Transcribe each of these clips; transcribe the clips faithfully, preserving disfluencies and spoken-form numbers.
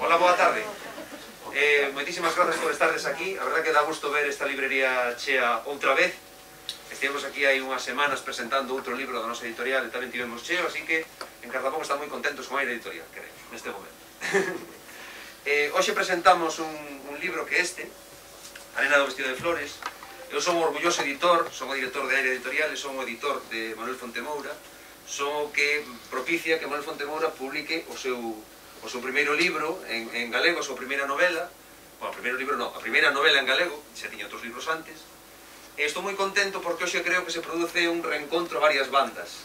Hola, boa tarde. Eh, moitísimas grazas por estardes aquí. A verdad que dá gusto ver esta librería chea outra vez. Estivemos aquí hai unhas semanas presentando outro libro da nosa editorial e tamén tivemos cheo, así que en Cardamón están moi contentos con a editorial, queremos, neste momento. eh, Hoxe presentamos un, un libro que este, A nena do vestido de flores. Eu son un orgulloso editor, son o director de Aire Editorial e son o editor de Manuel Fontemoura. Son o que propicia que Manuel Fontemoura publique o seu, o seu primeiro libro en, en galego, a súa primeira novela. Bueno, o primeiro libro non, a primeira novela en galego, xa tiña outros libros antes. E estou moi contento porque hoxe creo que se produce un reencontro a varias bandas.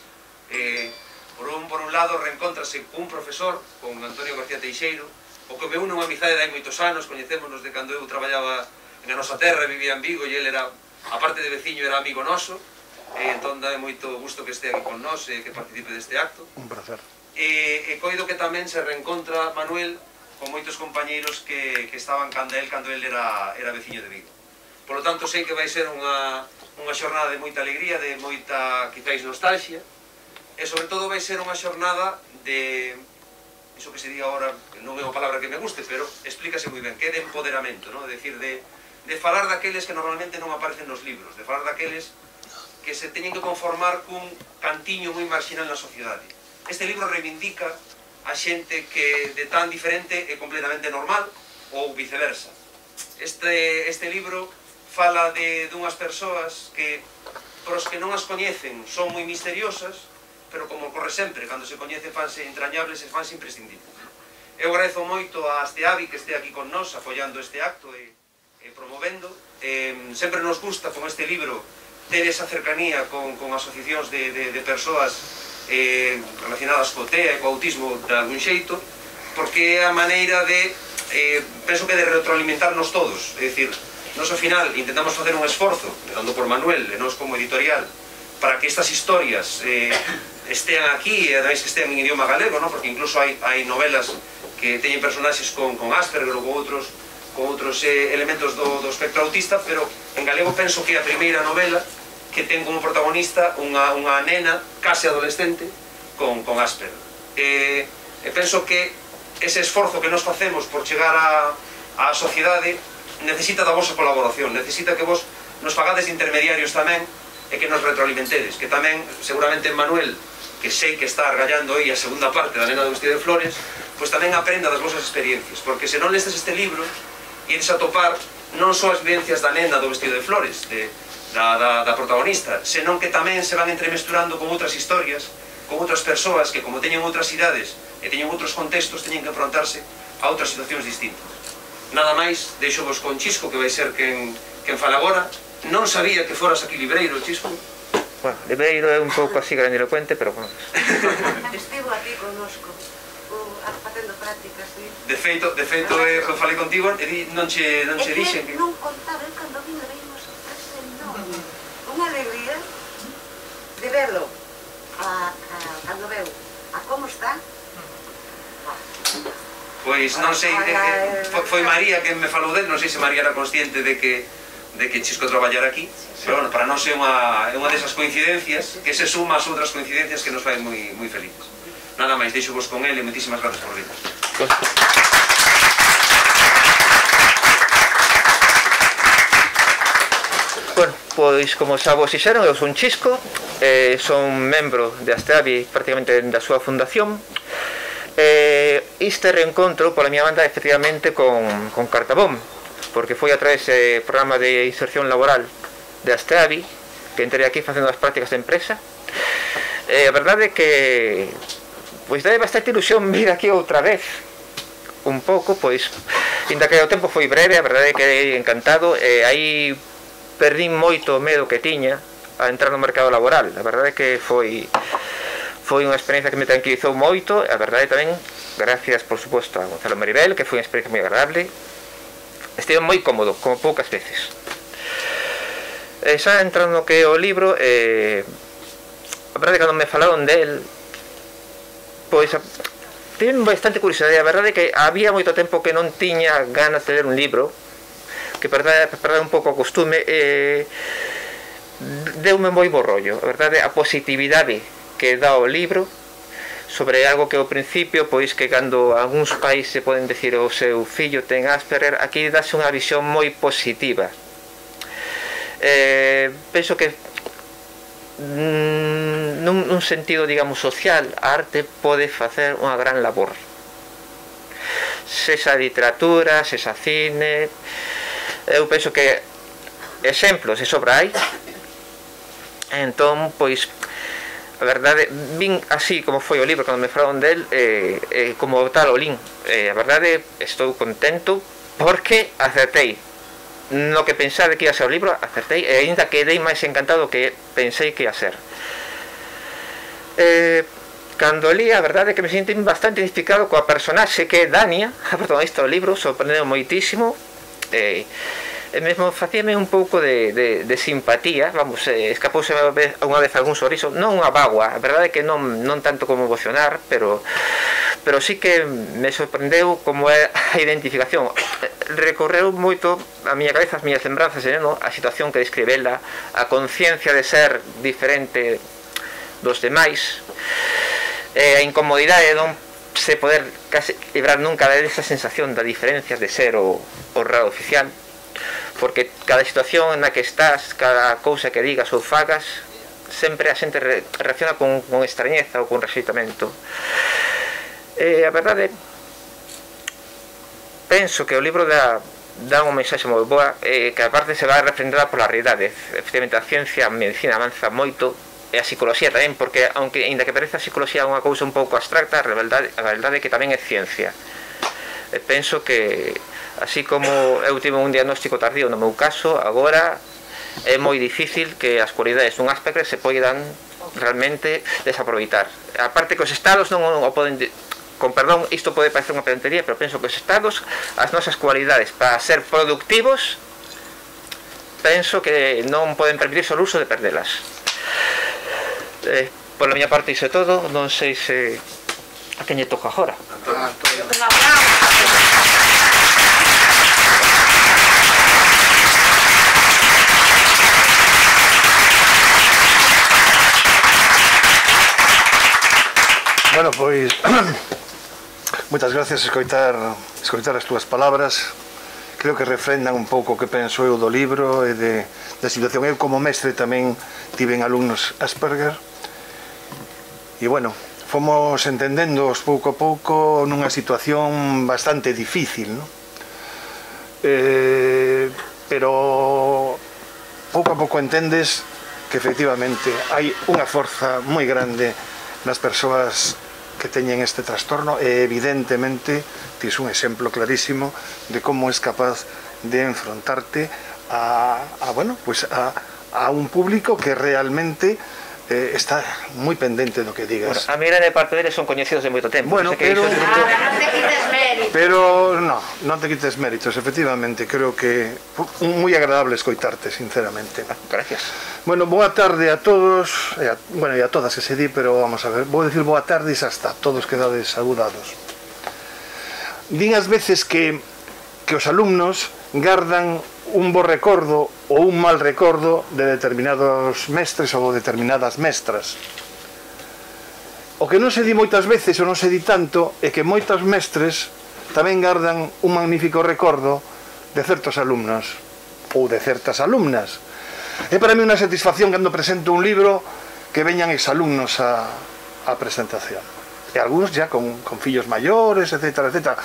Eh, por, un, por un lado, reencontrase cun profesor, con Antonio García Teixeiro, o que me une unha amizade de hai moitos anos, coñecémonos de cando eu traballaba en a nosa terra, vivía en Vigo, e ele era, aparte de veciño, era amigo noso. E entón dá moito gusto que este aquí con nós e que participe deste acto. Un placer. E, e coido que tamén se reencontra Manuel con moitos compañeiros que, que estaban canda el cando el era, era veciño de Vigo. Por lo tanto, sei que vai ser unha, unha xornada de moita alegría, de moita, quizáis, nostalgia, e sobre todo vai ser unha xornada de, iso que se diga agora, non é unha palabra que me guste, pero explícase moi ben, que é de empoderamento, ¿no? É dicir, de, de falar daqueles que normalmente non aparecen nos libros, de falar daqueles que se teñen que conformar cun cantiño moi marginal na sociedade. Este libro reivindica a xente que de tan diferente é completamente normal, ou viceversa. Este, este libro fala de dunhas persoas que, pros que non as coñecen, son moi misteriosas, pero como ocorre sempre, cando se coñece fanse entrañables e fanse imprescindibles. Eu agradezo moito a Asteavi que este aquí con nós, apoiando este acto e, e promovendo. Eh, sempre nos gusta con este libro ter esa cercanía con, con asociacións de, de, de persoas eh, relacionadas co T E A e co autismo de algún xeito, porque é a maneira de, eh, penso que de retroalimentarnos todos, é dicir, nos ao final intentamos facer un esforzo, dando por Manuel e nos como editorial, para que estas historias eh, estean aquí e ademais que estean en idioma galego, ¿no? Porque incluso hai, hai novelas que teñen personaxes con, con Asperger ou con outros con outros eh, elementos do, do espectro autista, pero en galego penso que é a primeira novela que ten como protagonista unha, unha nena case adolescente con, con Asperger. E, e penso que ese esforzo que nos facemos por chegar a, a sociedade necesita da vosa colaboración, necesita que vos nos fagades de intermediarios tamén e que nos retroalimentedes, que tamén seguramente Manuel, que sei que está argallando aí a segunda parte da nena do vestido de flores, pois tamén aprenda das vosas experiencias, porque se non lestes este libro ides a topar non só as vivencias da nena do vestido de flores, de, da, da, da protagonista, senón que tamén se van entremesturando con outras historias, con outras persoas que, como teñen outras idades e teñen outros contextos, teñen que enfrontarse a outras situacións distintas. Nada máis, deixo vos con Chisco, que vai ser quen, quen fala agora. Non sabía que foras aquí libreiro, Chisco. Bueno, libreiro é un pouco así grandilocuente, pero bueno. Estivo aquí connosco, facendo prácticas, sí. De feito, de feito, eh, eu falei contigo e non che, non che dixen que... non contaba, eu cando vino veio unha sorpresa enorme, unha alegría de verlo, a, a, cando veu, a como está. Pois non sei, eh, foi María que me falou del, non sei se María era consciente de que de que Chisco traballara aquí, pero bueno, para nós é unha, é unha desas coincidencias que se suma ás outras coincidencias que nos fai moi, moi felices. Nada máis, deixo vos con ele e moitísimas grazas por vir. Bueno, pois como xa vos dixeron, eu son Chisco, eh, son membro de Asteavi prácticamente da súa fundación. Eh, este reencontro pola miña banda efectivamente con, con Cartabón, porque foi a través do programa de inserción laboral de Asteavi que entré aquí facendo as prácticas de empresa. Eh, a verdade é que pois dai bastante ilusión vir aquí outra vez un pouco, pois ainda que o tempo foi breve, a verdade é que encantado, e aí perdín moito o medo que tiña a entrar no mercado laboral. A verdade é que foi foi unha experiencia que me tranquilizou moito, a verdade tamén, gracias por suposto a Gonzalo Maribel, que foi unha experiencia moi agradable. Estive moi cómodo, como poucas veces. E xa entrando no que é o libro, eh, a verdade é que cando me falaron del, pois tiven bastante curiosidade. A verdade é que había moito tempo que non tiña ganas de ler un libro, que perder, perder un pouco o costume, eh, deume moi bo rollo. A verdade, a positividade que dá o libro sobre algo que ao principio, pois que cando algúns pais se poden decir o seu fillo ten Asperger, aquí dáse unha visión moi positiva. Eh, penso que mm, nun, nun sentido, digamos, social, a arte pode facer unha gran labor. Sesa literatura, sesa cine, eu penso que exemplos e sobra hai. Entón, pois, a verdade, vin así como foi o libro cando me falaron del, eh, eh, como tal o lin. Eh, a verdade, estou contento porque acertei no que pensaba que ia ser o libro, acertei, e ainda quedei máis encantado que pensei que ia ser. Eh, cando li, a verdade é que me senti bastante identificado coa personaxe que é Dania, a protagonista do libro, sorprendeu moitísimo, e eh, mesmo facíame un pouco de, de, de simpatía, vamos, eh, escapouse unha vez algún sorriso, non unha bagua, a verdade é que non, non tanto como emocionar, pero pero sí que me sorprendeu como é a identificación. Recorreu moito a miña cabeza, as miñas lembranzas, eh, no? A situación que describe ela, a conciencia de ser diferente dos demais, eh, a incomodidade de non se poder casi librar nunca desa sensación da diferencia de ser o, o raro oficial, porque cada situación na que estás, cada cousa que digas ou fagas, sempre a xente re, reacciona con, con extrañeza ou con rexeitamento. Eh, a verdade, penso que o libro dá, dá unha mensaxe moi boa, eh, que aparte se vai refrendada pola realidade. Efectivamente, a ciencia, a medicina avanza moito, e a psicología tamén, porque, aunque ainda que parece a psicología unha cousa un pouco abstracta, a realidade, a realidade é que tamén é ciencia. E penso que, así como eu tive un diagnóstico tardío no meu caso, agora é moi difícil que as cualidades dun Asperger se poidan realmente desaproveitar. Aparte que os estados non o poden, con perdón, isto pode parecer unha pedantería, pero penso que os estados, as nosas cualidades para ser productivos, penso que non poden permitirse o uso de perdelas. Eh, por a miña parte iso é todo, non sei se a quen lle toca agora. Bueno, pois moitas gracias escoitar, escoitar as túas palabras. Creo que refrendan un pouco o que penso eu do libro e de, da situación. Eu como mestre tamén tiven alumnos Asperger e bueno, fomos entendéndoos pouco a pouco nunha situación bastante difícil, ¿no? Eh, pero pouco a pouco entendes que efectivamente hai unha forza moi grande nas persoas que teñen este trastorno e evidentemente tis un exemplo clarísimo de como es capaz de enfrontarte a, a bueno, pues a, a un público que realmente eh, está moi pendente do que digas. Bueno, a mí grande parte deles son coñecidos de moito tempo. Bueno, pero... Ahora non te quites méritos. Pero no, non te quites méritos, efectivamente, creo que moi agradable escoitarte, sinceramente. Gracias. Bueno, boa tarde a todos, e a, bueno, e a todas que se di, pero vamos a ver, vou decir boa tarde e xa está, todos quedades saludados. Din as veces que, que os alumnos gardan un bo recordo ou un mal recordo de determinados mestres ou de determinadas mestras. O que non se di moitas veces ou non se di tanto é que moitos mestres tamén gardan un magnífico recordo de certos alumnos ou de certas alumnas. É para mí unha satisfacción cando presento un libro que veñan exalumnos a, a presentación. E algúns ya con, con fillos maiores, etcétera, etcétera,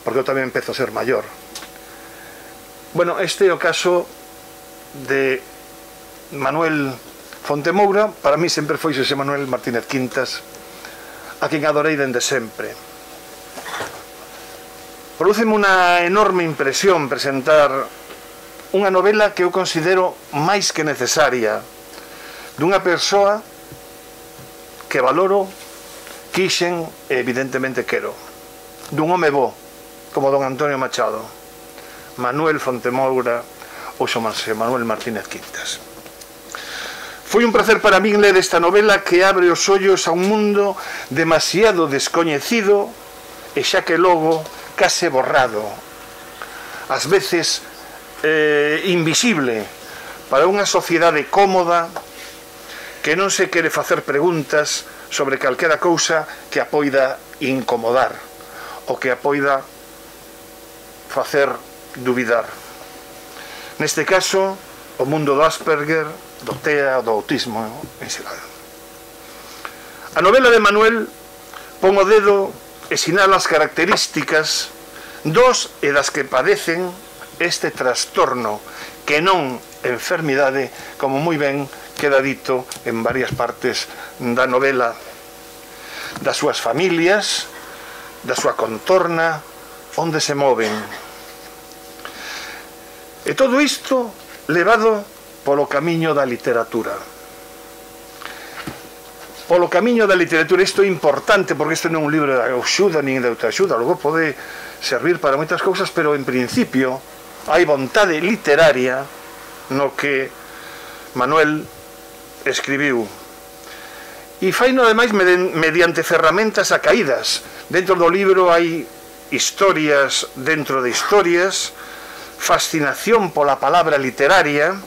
porque eu tamén empezo a ser maior. Bueno, este é o caso de Manuel Fontemoura. Para mí sempre foi ese Manuel Martínez Quintas, a quen adorei dende sempre. Prodúceme unha enorme impresión presentar unha novela que eu considero máis que necesaria, dunha persoa que valoro, quixen e evidentemente quero, dun home bo como don Antonio Machado, Manuel Fontemoura ou Xosé Manuel Martínez Quintas. Foi un placer para min ler esta novela que abre os ollos a un mundo demasiado descoñecido e xa que logo case borrado, ás veces eh, invisible para unha sociedade cómoda que non se quere facer preguntas sobre calquera cousa que a poida incomodar ou que a poida facer dubidar. Neste caso, o mundo do Asperger, do T E A, do autismo en xeral. A novela de Manuel pon o dedo e sinala as características dos e das que padecen este trastorno, que non enfermidade, como moi ben queda dito en varias partes da novela, das súas familias, da súa contorna, onde se moven. E todo isto levado polo camiño da literatura. Polo camiño da literatura, isto é importante, porque isto non é un libro de axuda nin de autoaxuda, logo pode servir para moitas cousas, pero en principio hai vontade literaria no que Manuel escribiu. E faino ademais mediante ferramentas acaídas. Dentro do libro hai historias dentro de historias, fascinación pola palabra literaria,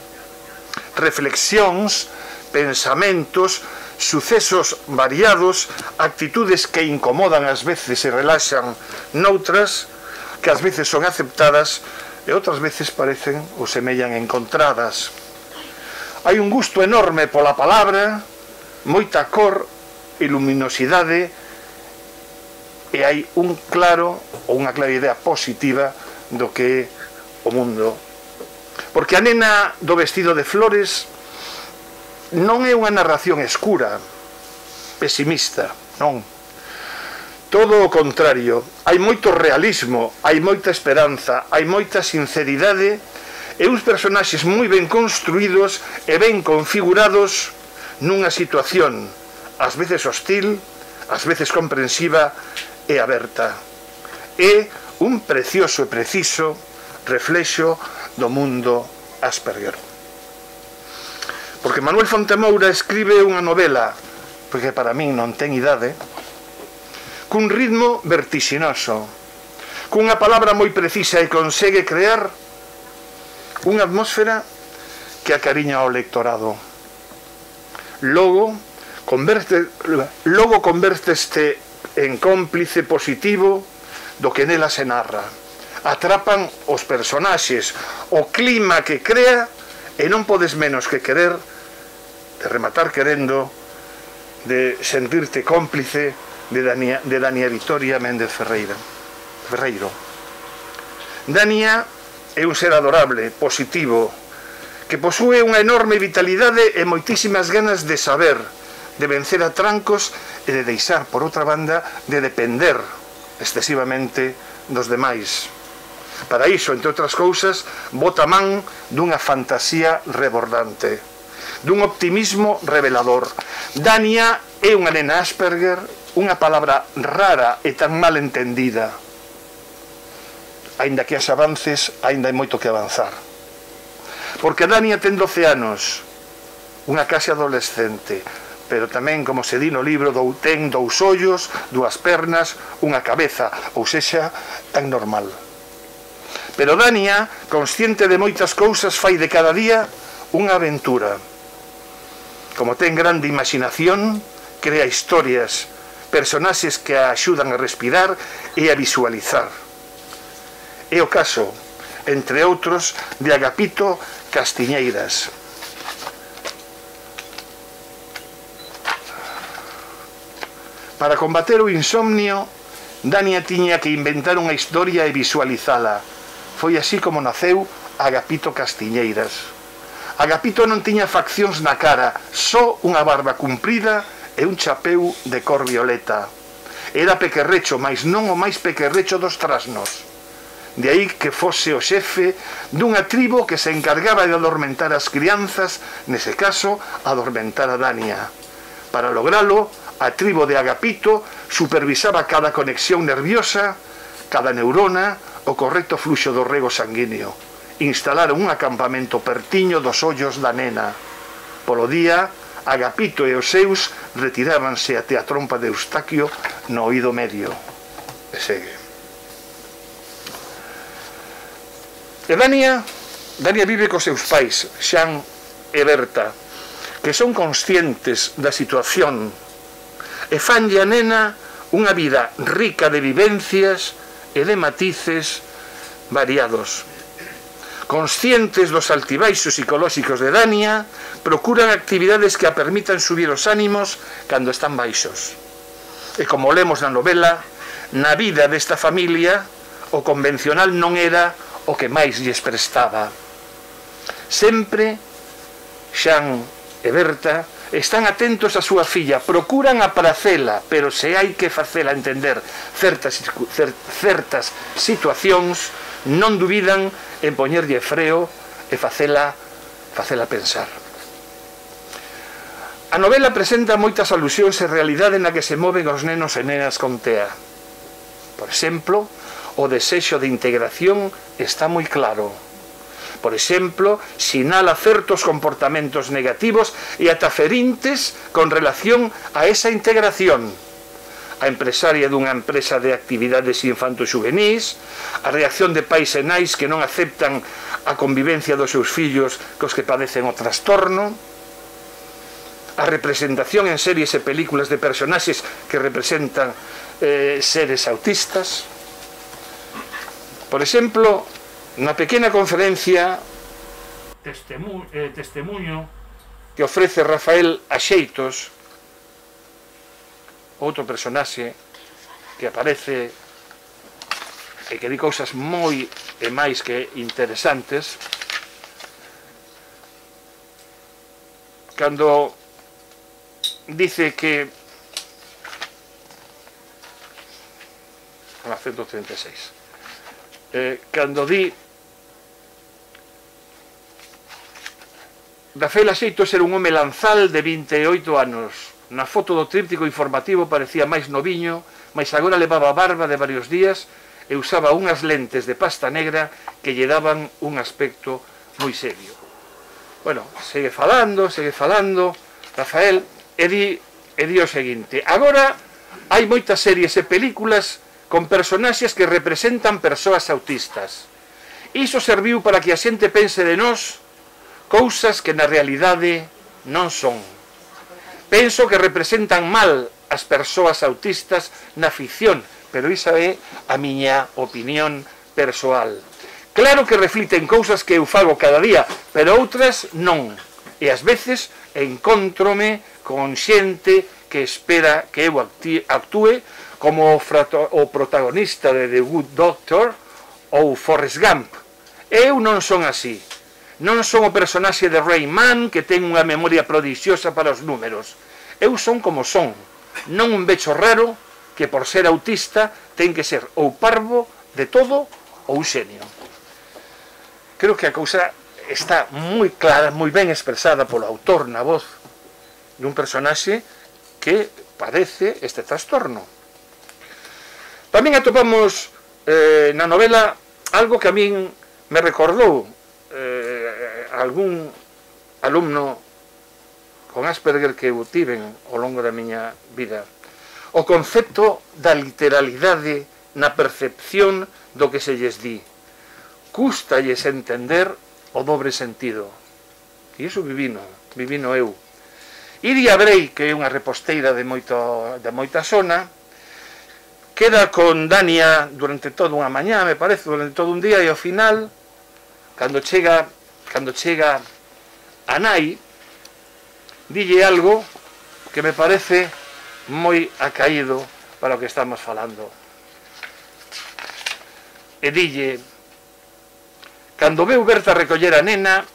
reflexións, pensamentos, sucesos variados, actitudes que incomodan ás veces e relaxan noutras, que ás veces son aceptadas e outras veces parecen ou semellan encontradas. Hai un gusto enorme pola palabra, moita cor e luminosidade, e hai un claro ou unha clara idea positiva do que é o mundo. Porque a nena do vestido de flores non é unha narración escura, pesimista, non. Todo o contrario, hai moito realismo, hai moita esperanza, hai moita sinceridade e uns personaxes moi ben construídos e ben configurados nunha situación, ás veces hostil, ás veces comprensiva e aberta. É un precioso e preciso reflexo do mundo Asperger. Porque Manuel Fontemoura escribe unha novela, porque para min non ten idade, cun ritmo vertixinoso, cunha palabra moi precisa e consegue crear unha atmósfera que acariña ao lectorado. Logo, converte, logo converteste en cómplice positivo do que nela se narra. Atrapan os personaxes, o clima que crea, e non podes menos que querer, de rematar querendo, de sentirte cómplice de Dania, de Dania Vitoria Méndez Ferreira, Ferreiro. Dania é un ser adorable, positivo, que posúe unha enorme vitalidade e moitísimas ganas de saber, de vencer a trancos e de deixar, por outra banda, de depender excesivamente dos demais. Para iso, entre outras cousas, bota man dunha fantasía rebordante, dun optimismo revelador. Dania é unha nena Asperger, unha palabra rara e tan mal entendida. Aínda que as avances, aínda hai moito que avanzar. Porque Dania ten doce anos, unha case adolescente, pero tamén, como se di no libro, ten dous ollos, dúas pernas, unha cabeza, ou sexa, tan normal. Pero Dania, consciente de moitas cousas, fai de cada día unha aventura. Como ten grande imaginación, crea historias, personaxes que a axudan a respirar e a visualizar. É o caso, entre outros, de Agapito Castiñeiras. Para combater o insomnio, Dania tiña que inventar unha historia e visualizala. Foi así como naceu Agapito Castiñeiras. Agapito non tiña faccións na cara, só unha barba cumprida e un chapeu de cor violeta. Era pequerrecho, mas non o máis pequerrecho dos trasnos. De aí que fose o xefe dunha tribo que se encargaba de adormentar as crianzas, nese caso, adormentar a Dania. Para logralo, a tribo de Agapito supervisaba cada conexión nerviosa, cada neurona, o correcto fluxo do rego sanguíneo. Instalaron un acampamento pertiño dos ollos da nena. Polo día, Agapito e os seus retirábanse até a trompa de Eustaquio no oído medio. E segue. E Dania, Dania vive cos seus pais, Xan e Berta, que son conscientes da situación. e fanlle a nena unha vida rica de vivencias e de matices variados. Conscientes dos altibaixos psicolóxicos de Dania, procuran actividades que a permitan subir os ánimos cando están baixos. E como lemos na novela, na vida desta familia, o convencional non era o que máis lles prestaba. Sempre Xan e Berta están atentos a súa filla, procuran apracela, pero se hai que facela entender certas, certas situacións, non dubidan en poñerlle freo e facela, facela pensar. A novela presenta moitas alusións e realidade na que se moven os nenos e nenas con TEA. Por exemplo, o desexo de integración está moi claro. Por exemplo, sinala certos comportamentos negativos e ata ferintes con relación a esa integración. A empresaria dunha empresa de actividades infanto-xuvenís, a reacción de pais e nais que non aceptan a convivencia dos seus fillos cos que padecen o trastorno, a representación en series e películas de personaxes que representan eh, seres autistas. Por exemplo, na pequena conferencia Testemu eh, testemunho que ofrece Rafael Axeitos, outro personaxe que aparece e que di cousas moi e máis que interesantes, cando dice que a ciento treinta e seis eh, cando di Rafael Axeitos era un home lanzal de vinte e oito anos. Na foto do tríptico informativo parecía máis noviño, mas agora levaba barba de varios días e usaba unhas lentes de pasta negra que lle daban un aspecto moi serio. Bueno, segue falando, segue falando Rafael, e di, e di o seguinte: agora hai moitas series e películas con personaxes que representan persoas autistas. Iso serviu para que a xente pense de nós cousas que na realidade non son. Penso que representan mal as persoas autistas na ficción, pero isa é a miña opinión persoal. Claro que refliten cousas que eu fago cada día, pero outras non. E ás veces encóntrome con xente que espera que eu actúe como o protagonista de The Good Doctor ou Forrest Gump. Eu non son así. Non son o personaxe de Rayman que ten unha memoria prodixiosa para os números. Eu son como son. Non un becho raro que por ser autista ten que ser ou parvo de todo ou xenio. Creo que a cousa está moi clara, moi ben expresada polo autor na voz dun personaxe que padece este trastorno. Tamén atopamos eh, na novela algo que a min me recordou eh, algún alumno con Asperger que eu tiven ao longo da miña vida. O concepto da literalidade na percepción do que se lles di. Cústalles entender o dobre sentido. E iso vivino, vivino eu. Iria Brei, que é unha reposteira de, moito, de moita zona, queda con Dania durante toda unha mañá, me parece, durante todo un día, e ao final, cando chega, cando chega a nai, dille algo que me parece moi acaído para o que estamos falando. E dille: cando veu Berta recoller a nena,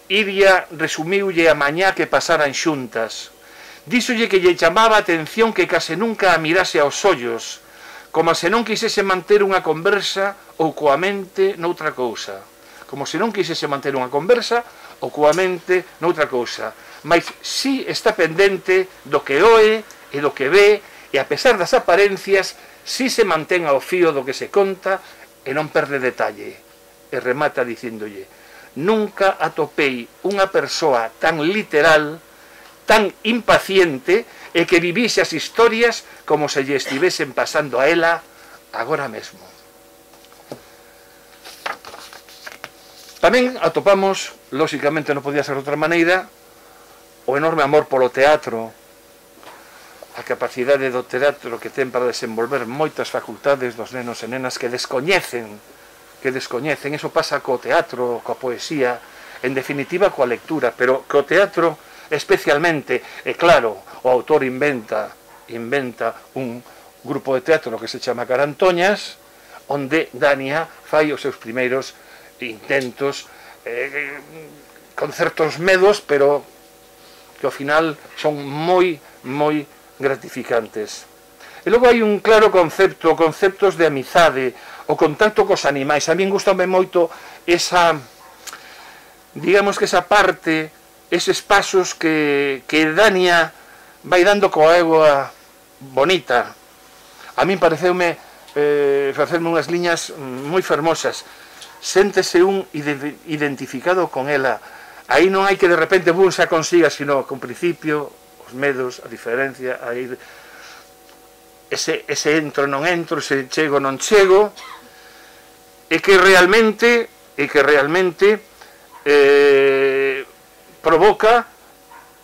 Iria resumiulle a mañá que pasaran xuntas. Díxolle que lle chamaba a atención que case nunca a mirase aos ollos, como se non quisese manter unha conversa ou coa mente noutra cousa. Como se non quisese manter unha conversa ou coa mente noutra cousa. Mas si está pendente do que oe e do que ve, e a pesar das aparencias, si se mantén ao fío do que se conta e non perde detalle. E remata dicindolle: nunca atopei unha persoa tan literal, tan impaciente, e que vivise as historias como se lle estivesen pasando a ela agora mesmo. Tamén atopamos, lóxicamente non podía ser de outra maneira, o enorme amor polo teatro, a capacidade do teatro que ten para desenvolver moitas facultades dos nenos e nenas que descoñecen, que descoñecen. Eso pasa co teatro, coa poesía, en definitiva coa lectura, pero co teatro especialmente. E claro, o autor inventa, inventa un grupo de teatro que se chama Carantoñas, onde Dania fai os seus primeiros intentos, eh, con certos medos, pero que ao final son moi, moi gratificantes. E logo hai un claro concepto, conceptos de amizade, o contacto cos animais. A min gustame moito esa, digamos que esa parte, eses pasos que, que Dania vai dando coa egua bonita. A min pareceume eh, facerme unhas liñas moi fermosas. Séntese un identificado con ela. Aí non hai que de repente bum, xa consiga, sino con principio, os medos, a diferencia, a ir, ese, ese entro non entro, ese chego non chego, e que realmente, e que realmente eh, provoca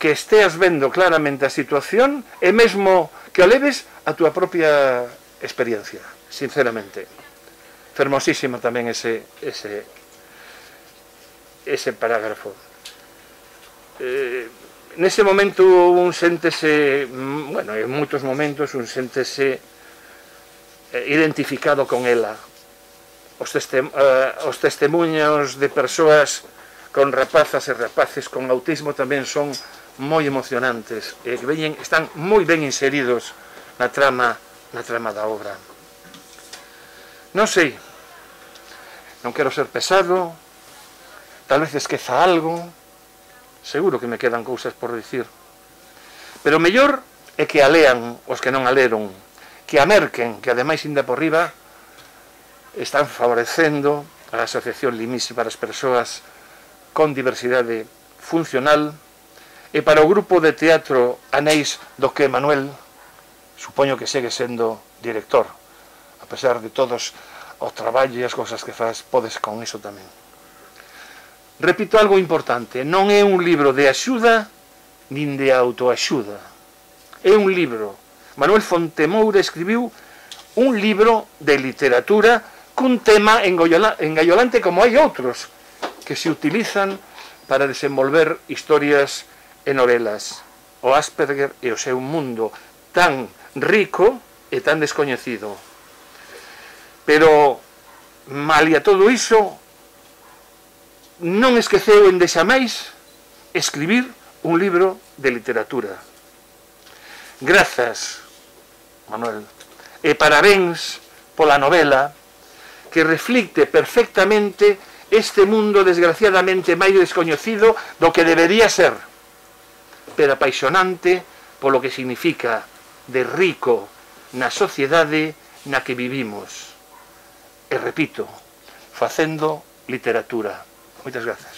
que esteas vendo claramente a situación e mesmo que o leves a túa propia experiencia, sinceramente. Fermosísimo tamén ese, ese, ese parágrafo. Eh, nese momento un séntese, bueno, en moitos momentos un séntese eh, identificado con ela. Os, testem, eh, os testemunhos de persoas con rapazas e rapaces con autismo tamén son moi emocionantes e que veñen, están moi ben inseridos na trama, na trama da obra. Non sei, non quero ser pesado, tal vez esqueza algo, seguro que me quedan cousas por dicir, pero o mellor é que a lean os que non a leron, que a merquen, que ademais inda por riba están favorecendo a Asociación Limisi para as persoas con diversidade funcional e para o grupo de teatro Anéis do que Manuel, supoño que segue sendo director, a pesar de todos os traballos e as cousas que faz, podes con iso tamén. Repito algo importante, non é un libro de axuda nin de autoaxuda, é un libro. Manuel Fontemoura escribiu un libro de literatura cun tema engaiolante como hai outros que se utilizan para desenvolver historias e novelas. O Asperger e o seu mundo tan rico e tan descoñecido. Pero, malia todo iso, non esqueceu en deixamais escribir un libro de literatura. Grazas, Manuel, e parabéns pola novela que reflicte perfectamente este mundo desgraciadamente máis descoñecido do que debería ser, pero apaixonante polo que significa de rico na sociedade na que vivimos. E repito, facendo literatura. Moitas grazas.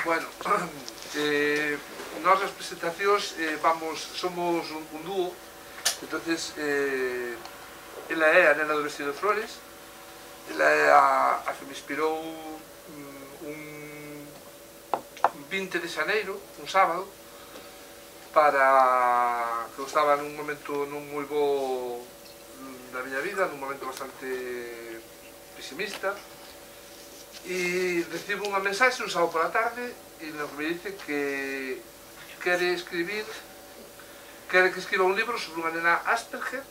Bueno, eh, nós as presentacións eh, vamos, somos un, un dúo, entonces eh, ela é a nena do vestido de flores, ela é a, a que me inspirou un vinte de xaneiro, un sábado, para que eu estaba nun momento non moi bo da miña vida, nun momento bastante pesimista, e recibo unha mensaxe un sábado pola tarde e me dice que quere escribir, quere que escriba un libro sobre unha nena Asperger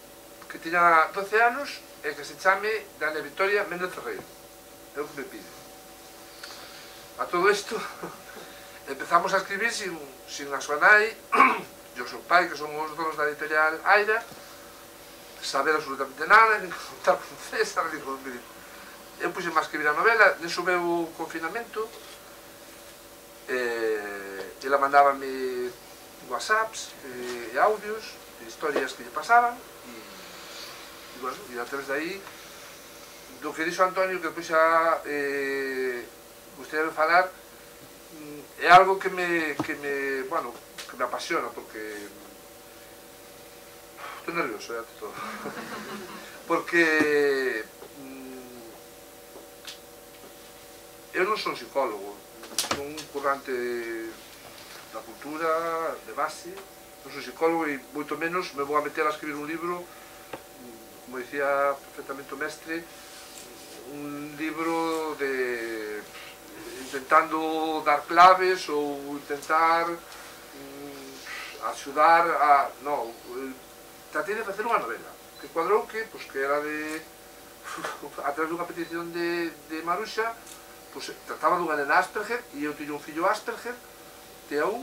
que tiña doce anos e que se chame Dania Victoria Méndez Ferreiro. É o que me pide. A todo isto empezamos a escribir sin, sin a súa nai e o seu pai, que son os donos da editorial Aira, saber absolutamente nada, nin contar con César, nin con... Eu puxen a escribir a novela, neso meu confinamento, eh, ela mandábame whatsapps eh, e audios, e historias que lle pasaban, e, e bueno, e a través de aí, do que dixo Antonio, que depois xa eh, gustaría falar, é algo que me, que me, bueno, que me apasiona, porque Estou nervioso, eh, ante todo. Porque eu non son psicólogo, son un currante da cultura, de base, non son psicólogo e moito menos me vou a meter a escribir un libro, como dicía perfectamente o mestre, un libro de intentando dar claves ou intentar mm, axudar a... non, tratei de facer unha novela que cuadrou que, pues, que era de a través dunha petición de, de Maruxa, pues, trataba dunha nena Asperger e eu tiño un fillo Asperger T A un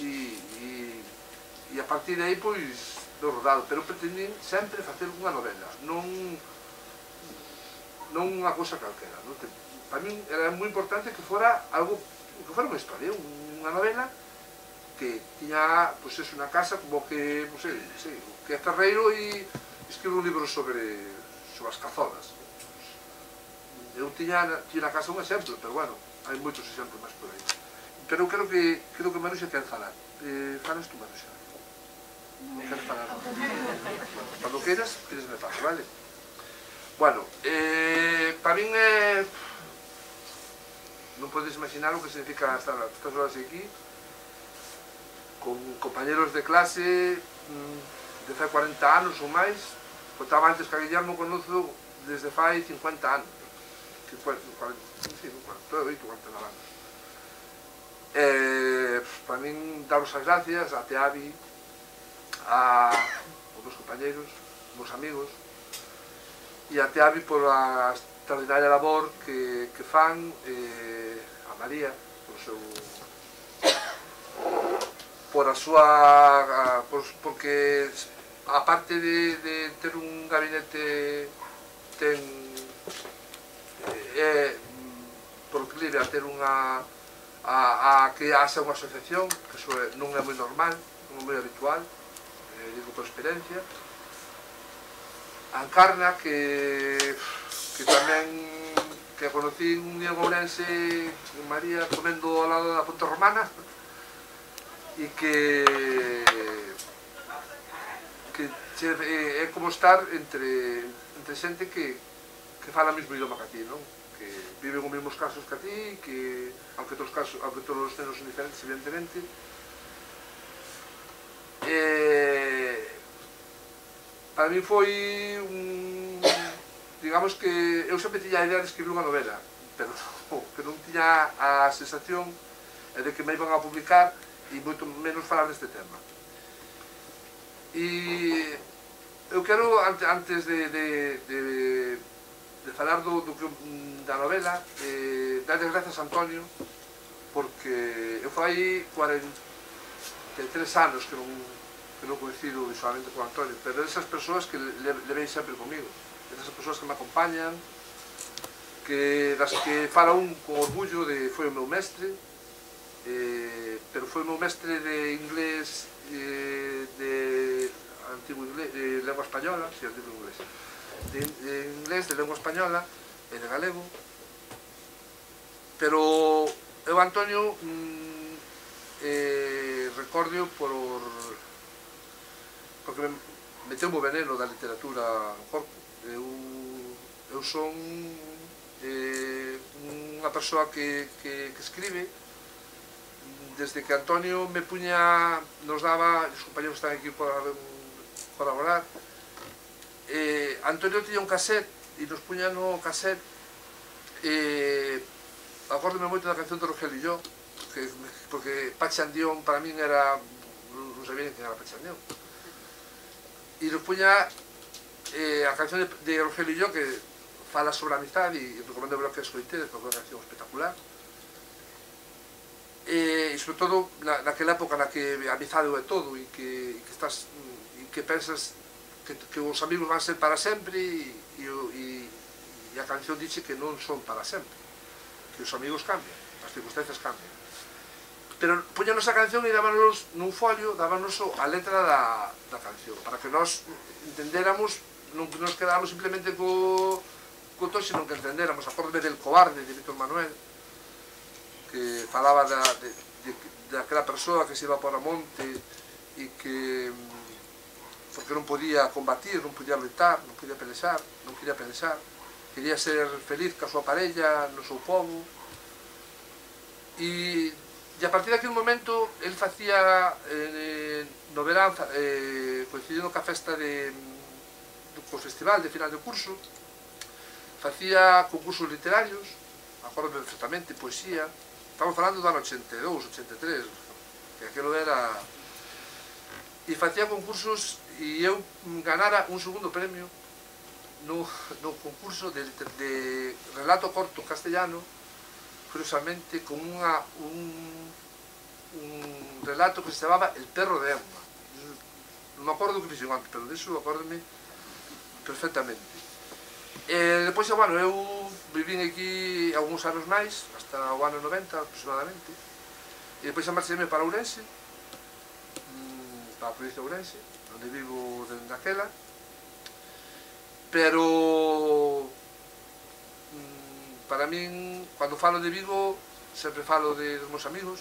e, e, e a partir de aí pois do rodado, pero pretendín sempre facer unha novela, non non unha cousa calquera, non? Para min era moi importante que fora algo, que fora unha historia, unha novela que tiña, pois, pues, unha casa como que, non sei, sei, que é ferreiro e escribe un libro sobre sobre as cazolas. Eu tiña, tiña na casa un exemplo, pero bueno, hai moitos exemplos máis por aí. Pero eu creo que, creo que Maruxa quer falar. Eh, falas tú, Maruxa? Non queres falar? Bueno, cando queiras, queres me paso, vale? Bueno, eh, para min é... Eh, non podes imaginar o que significa estar estas horas aquí con compañeros de clase de fai cuarenta anos ou máis. Contaba antes que a Guillermo conozo desde fai cincuenta anos, cuarenta e oito, cuarenta e nove anos. Eh, para min, daros as gracias a Teavi, a os meus compañeros, os meus amigos, e a Teavi por a extraordinaria labor que, que fan, eh, a María, por o seu... por a súa... A, por, porque aparte de, de ter un gabinete, ten... É, por que libre a ter unha... A, a que haxa unha asociación, que eso non é moi normal, non é moi habitual, eh, digo por experiencia. A Encarna, que, que tamén que conocí un día en Ourense, en María, comendo ao lado da Ponte Romana, e que que che, é como estar entre, entre xente que, que fala o mesmo idioma que a ti, non? Que viven os mesmos casos que a ti, que, aunque todos os casos, aunque todos os nenos son diferentes, evidentemente, eh, para mí foi un... digamos que eu sempre tiña a idea de escribir unha novela, pero que non tiña a sensación de que me iban a publicar e moito menos falar deste tema. E eu quero, antes de, de, de, de falar do, do que, da novela, eh, darles gracias a Antonio, porque eu fai cuarenta e tres anos que non, que non coincido visualmente con Antonio, pero esas persoas que le, levei sempre comigo, esas persoas que me acompañan, que, das que fala un con orgullo de foi o meu mestre, eh, pero foi o meu mestre de inglés, eh, de antigo inglés, de lengua española, si, antigo inglés, de, de inglés, de lengua española e de galego, pero eu, Antonio, mm, eh, recordo por porque me meteu o veneno da literatura no corpo. Eu, eu son eh, unha persoa que, que, que escribe desde que Antonio me puña, nos daba, os compañeros están aquí para colaborar, eh, Antonio tiña un cassette e nos puña no cassette, eh, acórdome moito da canción de Rogelio e yo, porque, porque Pachandión para min era, non sabía quen era Pachandión, e nos puña eh, a canción de, de Rogelio e yo, que fala sobre a amizade, e recomendo ver que escoitedes, porque é unha canción espectacular. E, e sobre todo na, naquela época na que a amizade é todo e que, e que estás e que pensas que, que os amigos van ser para sempre e, e, e a canción dixe que non son para sempre, que os amigos cambian, as circunstancias cambian, pero poñanos a canción e dábanos nun folio, dábanos a letra da, da canción para que nós entendéramos, non que nos quedáramos simplemente co, co todo, sino que entendéramos. Acórdome del Cobarde de Víctor Manuel, que falaba da, de, de, de aquela persoa que se iba por a monte e que porque non podía combatir, non podía loitar, non podía pelexar, non quería pelexar, quería ser feliz ca súa parella, no seu povo. E, e a partir daquele momento, el facía, eh, no verán, eh, coincidindo ca festa de, do festival de final de curso, facía concursos literarios, acordo perfectamente, poesía, estamos falando do ano ochenta e dous, ochenta e tres, que aquilo era... E facía concursos e eu ganara un segundo premio no, no concurso de, de relato corto castellano, curiosamente con unha, un, un relato que se chamaba El perro de Emma. Non me acordo o que fixo antes, pero disso acórdome perfectamente. E depois, bueno, eu vivín aquí algúns anos máis, hasta o ano noventa aproximadamente, e depois marchei para Ourense, para a provincia de Ourense, onde vivo dende aquela, pero para min, cando falo de Vigo, sempre falo de, dos meus amigos,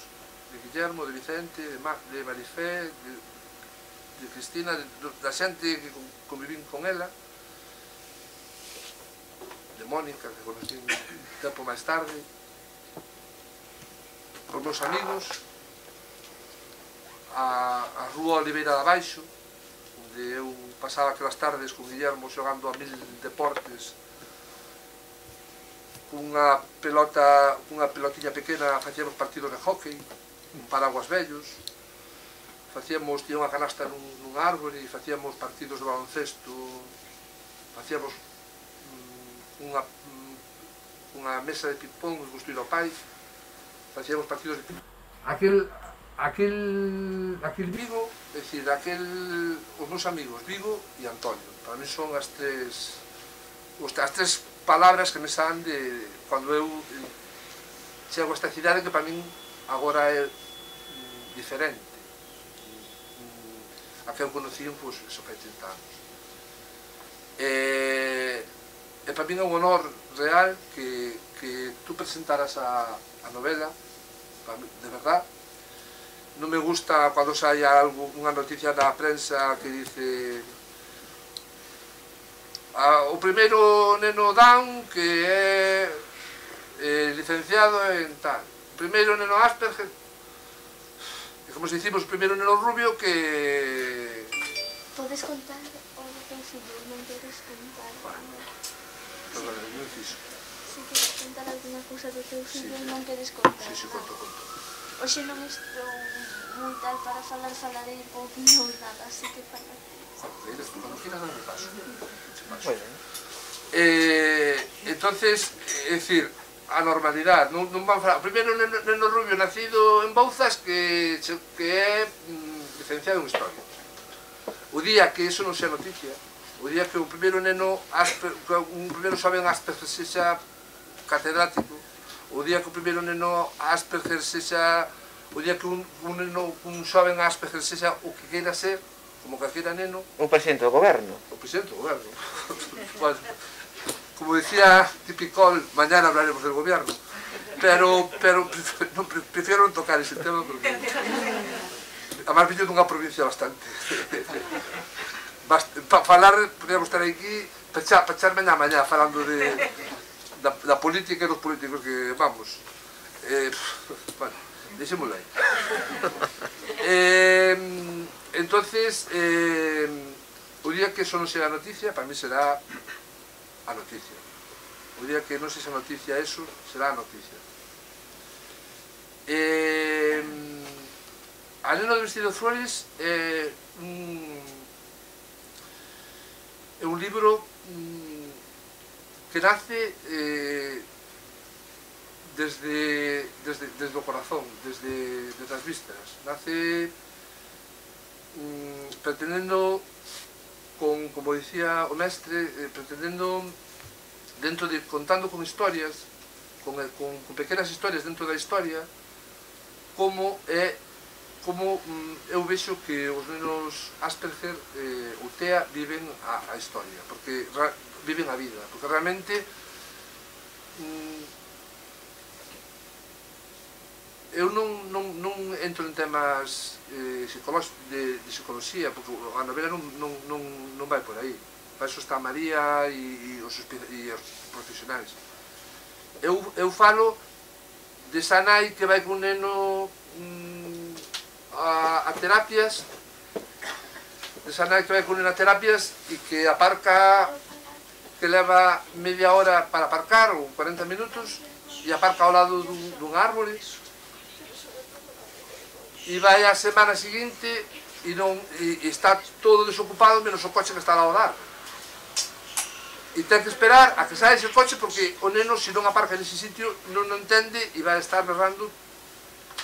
de Guillermo, de Vicente, de, Ma, de Marifé, de, de Cristina, de, da xente que convivín con ela, de Mónica, que conocí un tempo máis tarde, os meus amigos, a, a rúa Oliveira de Abaixo, onde eu pasaba aquelas tardes con Guillermo xogando a mil deportes, cunha pelota, cunha pelotiña pequena, facíamos partidos de hockey, un paraguas vellos, facíamos, tinha unha canasta nun, nun árbore, e facíamos partidos de baloncesto, facíamos unha, unha mesa de ping-pong que construíra o pai, facíamos partidos de ping-pong. Aquel, aquel, aquel Vigo, é dicir, aquel, os meus amigos Vigo e Antonio, para mí son as tres, as tres palabras que me saen de cando eu chego a esta cidade que para min agora é diferente a que eu conocí pois, eso fai trinta anos. E, e para min é un honor real que, que tú presentaras a, a novela, mí, de verdad. Non me gusta cando saia algo, unha noticia na prensa que dice ah, o primeiro neno Down que é eh, licenciado en tal, o primeiro neno Asperger, e como se dicimos, o primeiro neno Rubio que... Podes contar o teu fillo, non queres contar? Bueno, perdón, non fixo. Se queres contar alguna cousa do teu fillo, sí, non queres contar? Si, si, conto, conto. Oxe non estou moi tal para falar, falarei pouquinho ou nada, así que falar. Cuando quieras darme paso. Eh, entonces, é dicir, a normalidade, non, non van falar. O primeiro neno, neno Rubio nacido en Bouzas que, que é mm, licenciado en Historia. O día que eso non sea noticia, o día que o primeiro neno Asper, un primeiro xoven Asperger sexa catedrático, o día que o primeiro neno Asperger sexa, o día que un, un, neno, un xoven Asperger sexa o que queira ser, como calquera neno... Un presidente do goberno. O presidente do goberno. Bueno, como decía Tipicol, mañana hablaremos del gobierno. Pero, pero no, prefiero non tocar ese tema porque... Además, viño dunha provincia bastante... Para falar, podríamos estar aquí, para echar mañá mañá falando de... Da, da política e dos políticos que, vamos... Eh, bueno, deixémoslo aí. Eh... Entonces, eh, o día que eso non sea noticia, para mí será a noticia. O día que non sea noticia eso, será a noticia. Eh, A neno do vestido de flores é un, é un libro que nace eh, desde, desde, desde o corazón, desde, desde as vísceras. Nace pretendendo, con, como dicía o mestre, eh, pretendendo, dentro de, contando con historias, con, con, con pequenas historias dentro da historia, como é, como mm, eu vexo que os nenos Asperger eh, ou TEA viven a, a historia, porque ra, viven a vida, porque realmente mm, eu non, non, non entro en temas eh, de, de psicología, porque a novela non, non, non, non vai por aí. Para eso está María e, e, os, e os profesionais. Eu, eu falo desa nai que vai con un neno mm, a, a terapias, desa nai que vai con un neno a terapias e que aparca, que leva media hora para aparcar, ou cuarenta minutos, e aparca ao lado dun, dun árbore, e vai a semana seguinte e, non, e, e está todo desocupado menos o coche que está ao dar. E ten que esperar a que saia ese coche porque o neno, se non aparca nese sitio, non o entende e vai estar berrando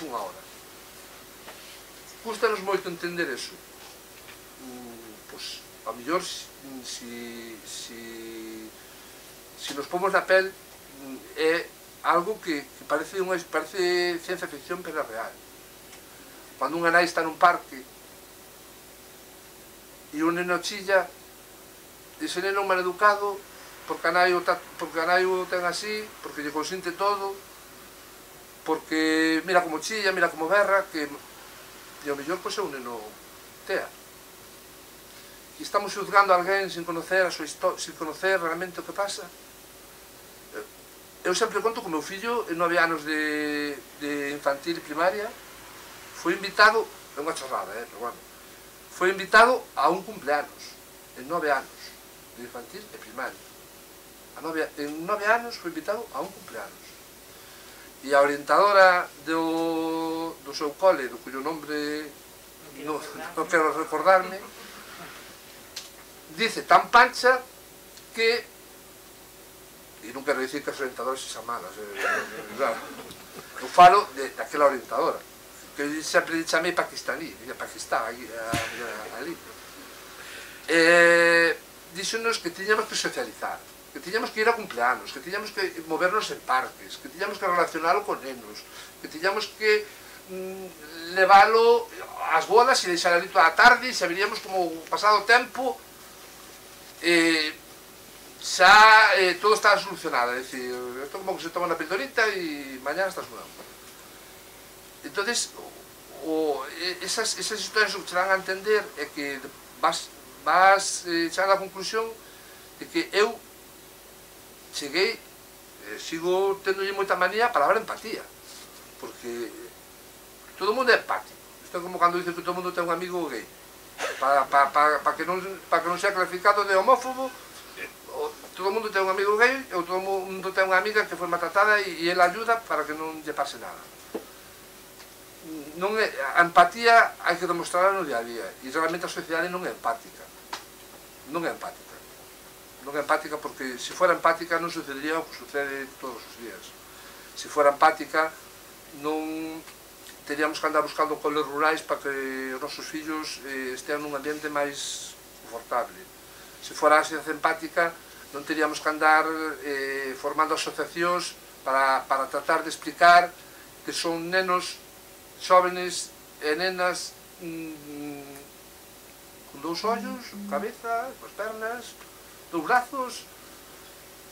unha hora. Custanos moito entender eso. Mm, pois, a mellor, si, si, si nos pomos na pel, é algo que, que parece, unha, parece ciencia ficción, pero é real. Cando unha nai está nun parque e un neno chilla, ese neno mal educado, porque a nai o, ta, porque a nai o ten así, porque lle consinte todo, porque mira como chilla, mira como berra, que e ao mellor pois é un neno tea. E estamos xuzgando a alguén sin conocer a súa historia, sin conocer realmente o que pasa. Eu sempre conto que o meu fillo, en nove anos de, de infantil e primaria, foi invitado, é unha chorrada, eh, pero bueno, foi invitado a un cumpleanos, en nove anos, de infantil e primaria. A nove, en nove anos foi invitado a un cumpleanos. E a orientadora do, do seu cole, do cuyo nombre non no quero recordarme, dice tan pancha que, e non quero dicir que as orientadoras sexan malas, eh, claro, eu falo de, daquela orientadora, que eu sempre lle chamei pakistaní, de Pakistán, ali. ali. Eh, díxonos que tiñamos que socializar, que tiñamos que ir a cumpleanos, que tiñamos que movernos en parques, que tiñamos que relacionalo con nenos, que tiñamos que mm, leválo ás bodas e deixar ali toda a tarde e saberíamos como pasado o tempo eh, xa eh, todo está solucionado, é dicir, isto como que se toma unha pildorita e mañana estás nuevo. Entonces, o, esas, esas historias o que te dan a entender é que vas, vas eh, chegar a conclusión de que eu cheguei, eh, sigo tendolle moita manía a palabra empatía, porque todo o mundo é empático. Isto é como cando dicen que todo o mundo ten un amigo gay, para, para, para, para, que, non, para que non sea clasificado de homófobo. Todo o mundo ten un amigo gay, ou todo o mundo ten unha amiga que foi maltratada e, e ela ayuda para que non lle pase nada. Non é, a empatía hai que demostrarla no día a día, e realmente a sociedade non é empática, non é empática, non é empática porque se fora empática non sucedería o que sucede todos os días. Se fora empática non teríamos que andar buscando coles rurais para que os nosos fillos eh, estean nun ambiente máis confortable. Se fora a sociedade empática non teríamos que andar eh, formando asociacións para, para tratar de explicar que son nenos xóvenes e nenas mmm, con dous ollos, cabeza, con pernas, dous brazos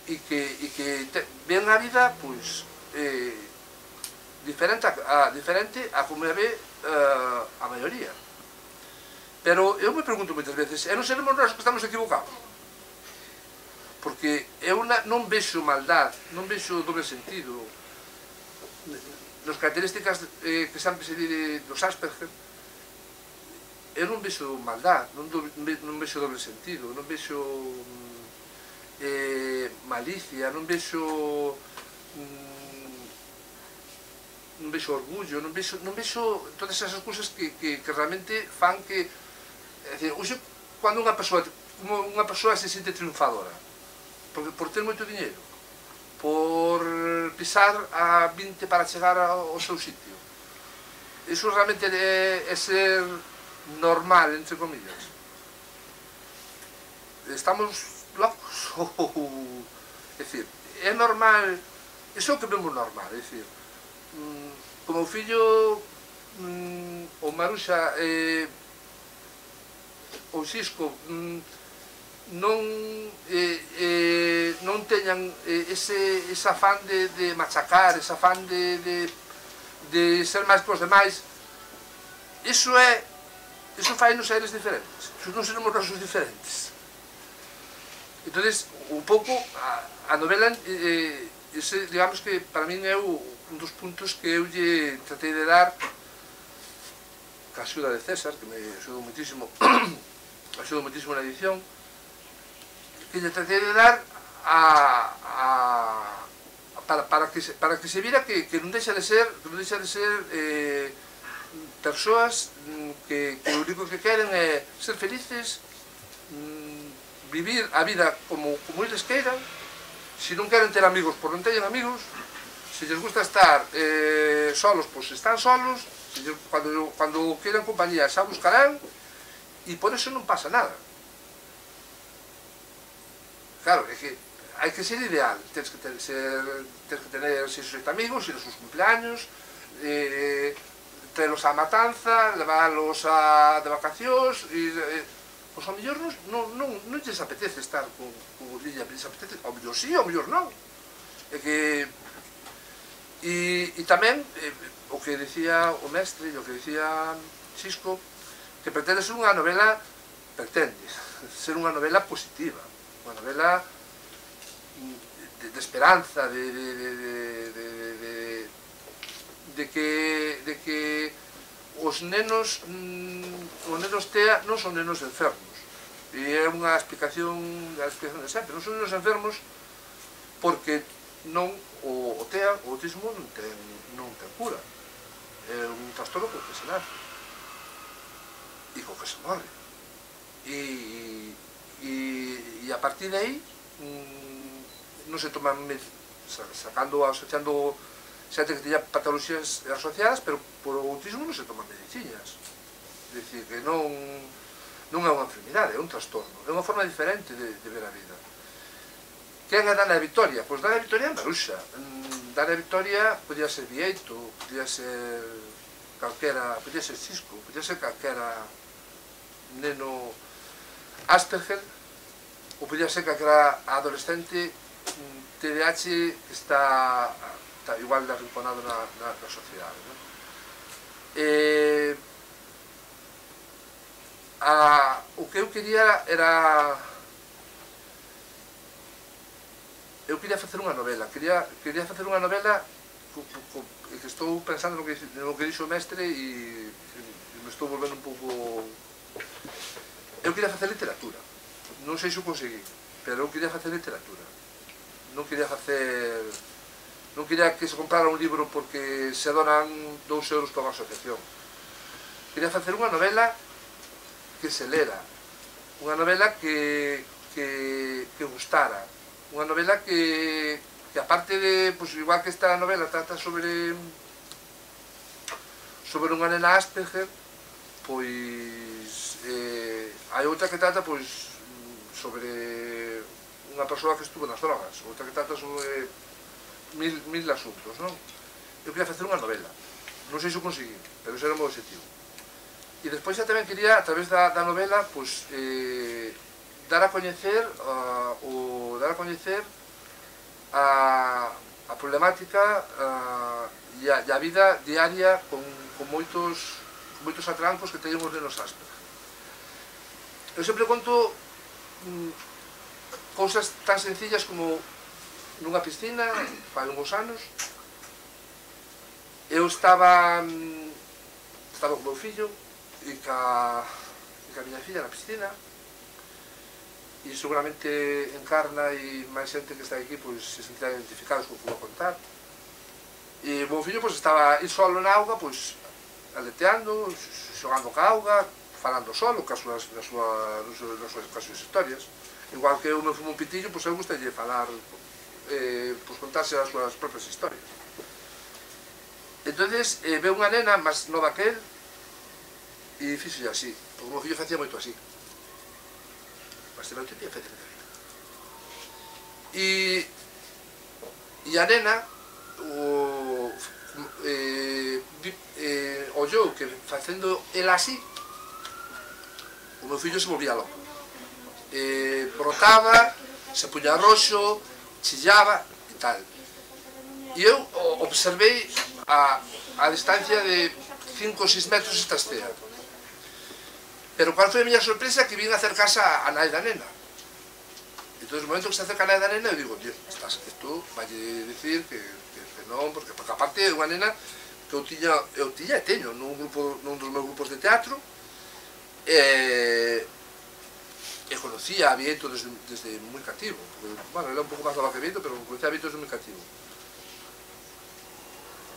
e que, e que te, ven a vida pois, eh, diferente, a, a, diferente a como a ve uh, a maioría. Pero eu me pregunto moitas veces, e non seremos nós que estamos equivocados? Porque eu non vexo maldad, non vexo doble sentido. Nas características eh, que sempre se di dos Asperger, eu non vexo maldad, non, do, non vexo doble sentido, non vexo eh, malicia, non vexo mm, non vexo orgullo, non vexo, non vexo todas esas cousas que, que, que realmente fan que, é dicir, hoxe, cando unha persoa, unha persoa se sente triunfadora, por, por ter moito diñeiro, por pisar a vinte para chegar ao seu sitio. Iso realmente é, é ser normal, entre comillas. Estamos locos? É dicir, é normal, iso é o que vemos normal, é dicir, como o fillo, o Maruxa, eh, o Xisco, non eh, eh, non teñan eh, ese, ese afán de, de machacar, ese afán de, de, de ser máis que os demais, iso é, iso fai nos seres diferentes, iso non seremos nosos diferentes. Entonces, un pouco, a, a novela, eh, ese, digamos que para min é o, un dos puntos que eu lle tratei de dar, ca axuda de César, que me axudou muitísimo, axudou muitísimo na edición, que lle tratei de dar a, a para, para, que se, para que se vira que, que non deixa de ser, que non deixa de ser eh, persoas que, que o único que queren é ser felices, mm, vivir a vida como, como eles queiran. Se non queren ter amigos, pois non teñen amigos. Se lles gusta estar eh, solos, pois están solos. Se lles, cando, cando queiran compañía xa buscarán, e por eso non pasa nada. Claro, é que hai que ser ideal, tens que, ter, ser, tens que tener seis ou sete amigos, ir aos seus cumpleaños, eh, traelos á matanza, leválos a, de vacacións, e, eh, pois ao mellor non, non, non, non lles apetece estar con, con o Lilla, lles apetece, ao mellor sí, ao mellor non. É que, e, e tamén, eh, o que decía o mestre, o que decía Xisco, que pretende ser unha novela, pretende ser unha novela positiva, unha novela de, de esperanza, de, de, de, de, de, de, que, de que os nenos, mm, os nenos T E A non son nenos enfermos. E é unha explicación, a explicación de sempre, non son nenos enfermos porque non, o, o T E A, o autismo non ten, non ten cura. É un trastorno co que se nace e co que se morre. E, e, e a partir de aí, mm, non se toman, sacando, asociando xente que teña patologías asociadas, pero por o autismo non se toman medicinas. É dicir, que non, non é unha enfermidade, é un trastorno, é unha forma diferente de, de ver a vida. Quen é Dana Victoria? Pois Dana Victoria é Maruxa. Dana Victoria podía ser Vieito, podía ser calquera, podía ser Xisco, podía ser calquera neno Asperger, ou podía ser calquera adolescente T D A H que está, está igual de arrinconado na, na, na sociedade, ¿no? Eh, a, o que eu quería era eu quería facer unha novela quería, quería facer unha novela co, co, que estou pensando no que, no que dixo o mestre e, e me estou volvendo un pouco eu quería facer literatura, non sei se o consegui, pero eu quería facer literatura. Non quería facer, non quería que se comprara un libro porque se donan dous euros para unha asociación. Quería facer unha novela que se lera, unha novela que, que, que gustara, unha novela que, que aparte de, pues, igual que esta novela trata sobre sobre unha nena Asperger, pois eh, hai outra que trata pois sobre unha persoa que estuvo nas drogas, outra que trata sobre mil, mil asuntos, non? Eu quería facer unha novela, non sei se o conseguí, pero ese era o meu objetivo. E despois xa tamén quería, a través da, da novela, pois, eh, dar a coñecer, uh, o, dar a coñecer a, a problemática uh, e, a, e a vida diaria con, con moitos, con moitos atrancos que teñen os nenos Asperger. Eu sempre conto mm, cousas tan sencillas como nunha piscina, fai uns anos, eu estaba estaba con o meu fillo e ca, e ca miña filla na piscina e seguramente Encarna e máis xente que está aquí pois, se sentirá identificados co que vou contar. E o meu fillo pois, estaba ir solo na auga, pois, aleteando, xogando ca auga, falando solo, cas súas, nas súas, nas súas, cas súas historias. Igual que eu me fumo un pitillo, pois eu gustalle falar, eh, pois contarse as súas propias historias. Entonces, eh, veo unha nena máis nova que él, e fixolle así, porque o meu fillo facía moito así. Mas non tenía feito de vida. E, e a nena, o, eh, eh, ollou que facendo el así, o meu fillo se volvía loco. Eh, brotaba, se puña roxo, chillaba e tal. E eu observei a, a distancia de cinco ou seis metros esta estea. Pero cual foi a miña sorpresa que vin acercarse a nai da nena. Entón, no momento que se acerca a nai da nena, eu digo, tío, estás, isto vai dicir que, que, que non, porque, porque aparte é unha nena que eu tiña, eu tiña e teño nun, grupo, nun dos meus grupos de teatro, e, e conocía a Vieto desde, desde moi cativo, porque, bueno, era un pouco máis nova que Vieto, pero conocía a Vieto desde moi cativo.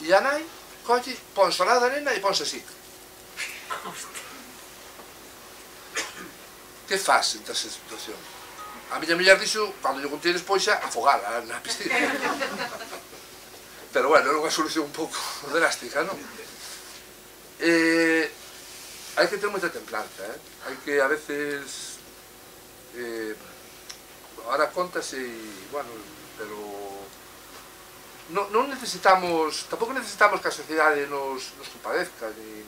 E a nai, colle, ponse ao lado da nena e ponse así. Que faz en esa situación? A miña muller dixo, cando lle contei despois, afogala na piscina. Pero bueno, era unha solución un pouco drástica, non? Eh, hai que ter moita templanza, eh? Hai que, a veces, eh, ahora contase e, bueno, pero non, non necesitamos, tampouco necesitamos que a sociedade nos, nos compadezca, ni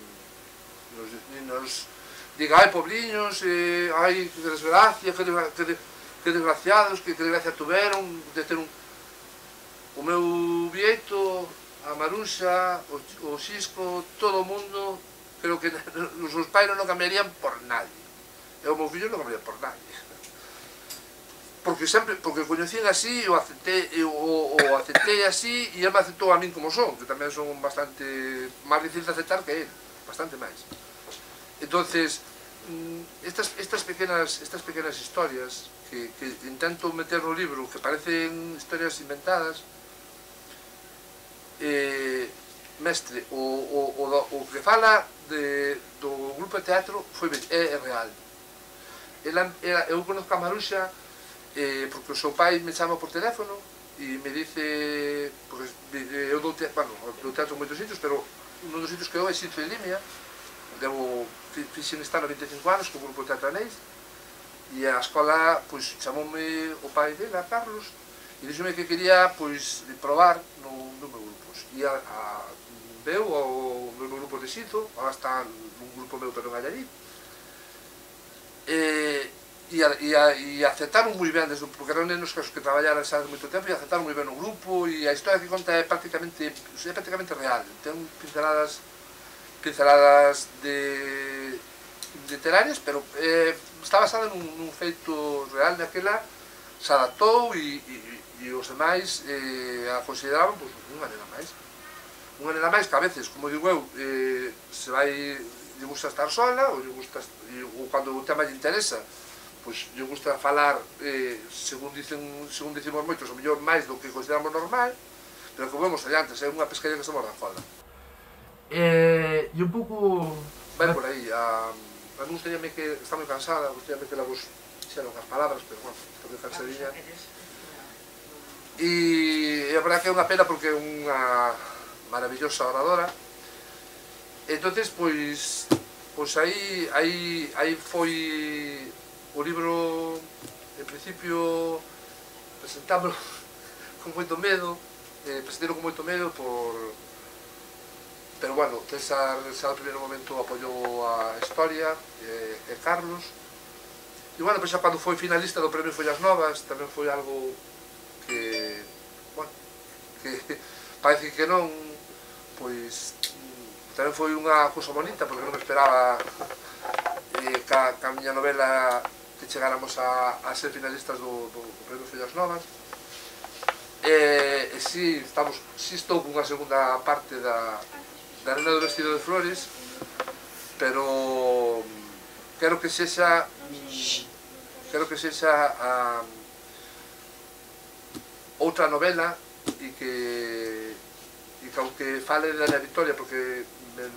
nos, ni nos diga, ai, pobliños, eh, ai, que desgracia, que, desgra que, de que desgraciados, que, que desgracia tuveron de ter un... O meu Vieto, a Marunxa, o, o Xisco, todo o mundo, creo que os seus pais non cambiarían por nadie. E o meu fillo non cambiaría por nadie. Porque sempre, porque coñecín así, o aceptei, o, o aceptei así, e ele me aceptou a min como son, que tamén son bastante máis difícil de aceptar que ele, bastante máis. Entonces, estas, estas, pequenas, estas pequenas historias que, que intento meter no libro, que parecen historias inventadas, eh, mestre, o, o, o, o que fala de, do grupo de teatro foi, é, é real. Ela, ela, eu conozco a Maruxa eh, porque o seu pai me chama por teléfono e me dice, porque eu dou teatro, bueno, dou teatro en moitos sitios, pero un dos sitios que eu é Sitio de Limia. Devo, fixen estar a vinte e cinco anos co grupo de teatro Anéis, e a escola, pois, chamoume o pai dela, Carlos, e dixome que quería, pois, probar no, no meu grupo. E a, a, veu ao meu grupo de Xito, agora está nun grupo meu, pero en Allarí, e, e, e, e aceptaron moi ben, desde, porque eran nenos que traballaran xa de moito tempo, e aceptaron moi ben o grupo, e a historia que conta é prácticamente, é prácticamente real, ten pinceladas pinceladas de literarias, pero eh, está basada nun, nun feito real daquela, se adaptou e, e, e os demais eh, a consideraban pues, unha nena máis. Unha nena máis que a veces, como digo eu, eh, se vai, lle gusta estar sola, ou, lle gusta, ou cando o tema lle interesa, pues, lle gusta falar, eh, según, dicen, según dicimos moitos, o mellor máis do que consideramos normal, pero como vemos adiante, é unha pescaría que se morda foda. Eh, e un pouco vai por aí. A, a mí gustaríame que está moi cansada, gustaríame que la vos xeron as palabras, pero bueno, está moi cansadilla. E a verdade que é unha pena porque é unha maravillosa oradora. Entonces, pois, pois aí, aí, aí foi o libro, en principio, presentámoslo con moito medo, eh, presentero con moito medo por... Pero bueno, César, César no primeiro momento apoiou a historia, e, e Carlos. E bueno, pois xa cando foi finalista do Premio Follas Novas, tamén foi algo que, bueno, que parece que non, pois tamén foi unha cousa bonita, porque non esperaba eh, ca, ca miña novela que chegáramos a, a ser finalistas do, do, do Premio Follas Novas. E, e si, estamos, si estou cunha segunda parte da da Nena do Vestido de Flores, pero quero que sexa quero que sexa a, outra novela e que e que aunque fale da Ana Victoria, porque me,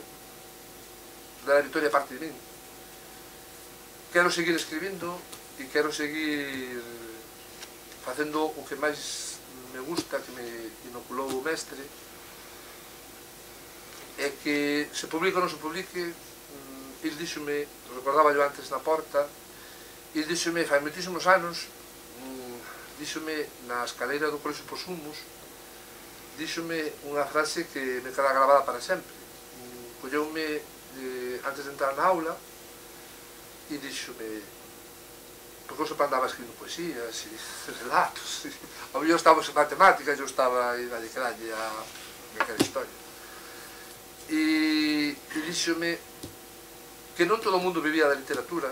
da Ana Victoria parte de min, quero seguir escribindo e quero seguir facendo o que máis me gusta, que me inoculou o mestre, é que se publica ou non se publique, il díxome, recordaba yo antes na porta, il díxome, fai moitísimos anos, díxome na escaleira do Colexio Posumos, díxome unha frase que me queda grabada para sempre. Colleume eh, antes de entrar na aula e díxome, porque eu sempre andaba escribindo poesías e relatos, ao mellor estábamos en matemáticas e eu estaba aí dalle que dalle a aquela historia. e, e díxome que non todo o mundo vivía da literatura,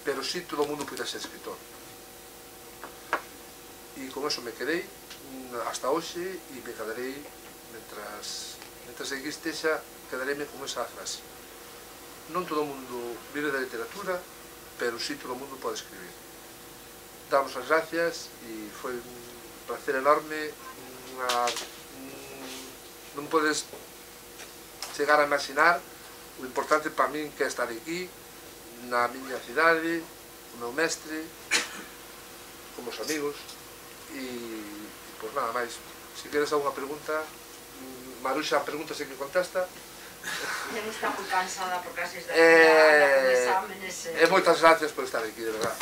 pero sí todo o mundo podía ser escritor. E con eso me quedei hasta hoxe e me quedarei, mentras, mentras aquí estexa, quedareime con esa frase. Non todo o mundo vive da literatura, pero sí todo o mundo pode escribir. Damos as gracias e foi un placer enorme. Unha, non podes chegar a imaginar o importante para min que é estar aquí, na miña cidade, o meu mestre, como os amigos, e, e pois nada máis. Se queres alguna pregunta, Maruxa pregunta se que contesta. Ya está moi cansada por casi da eh, exámenes. E moitas gracias por estar aquí, de verdad.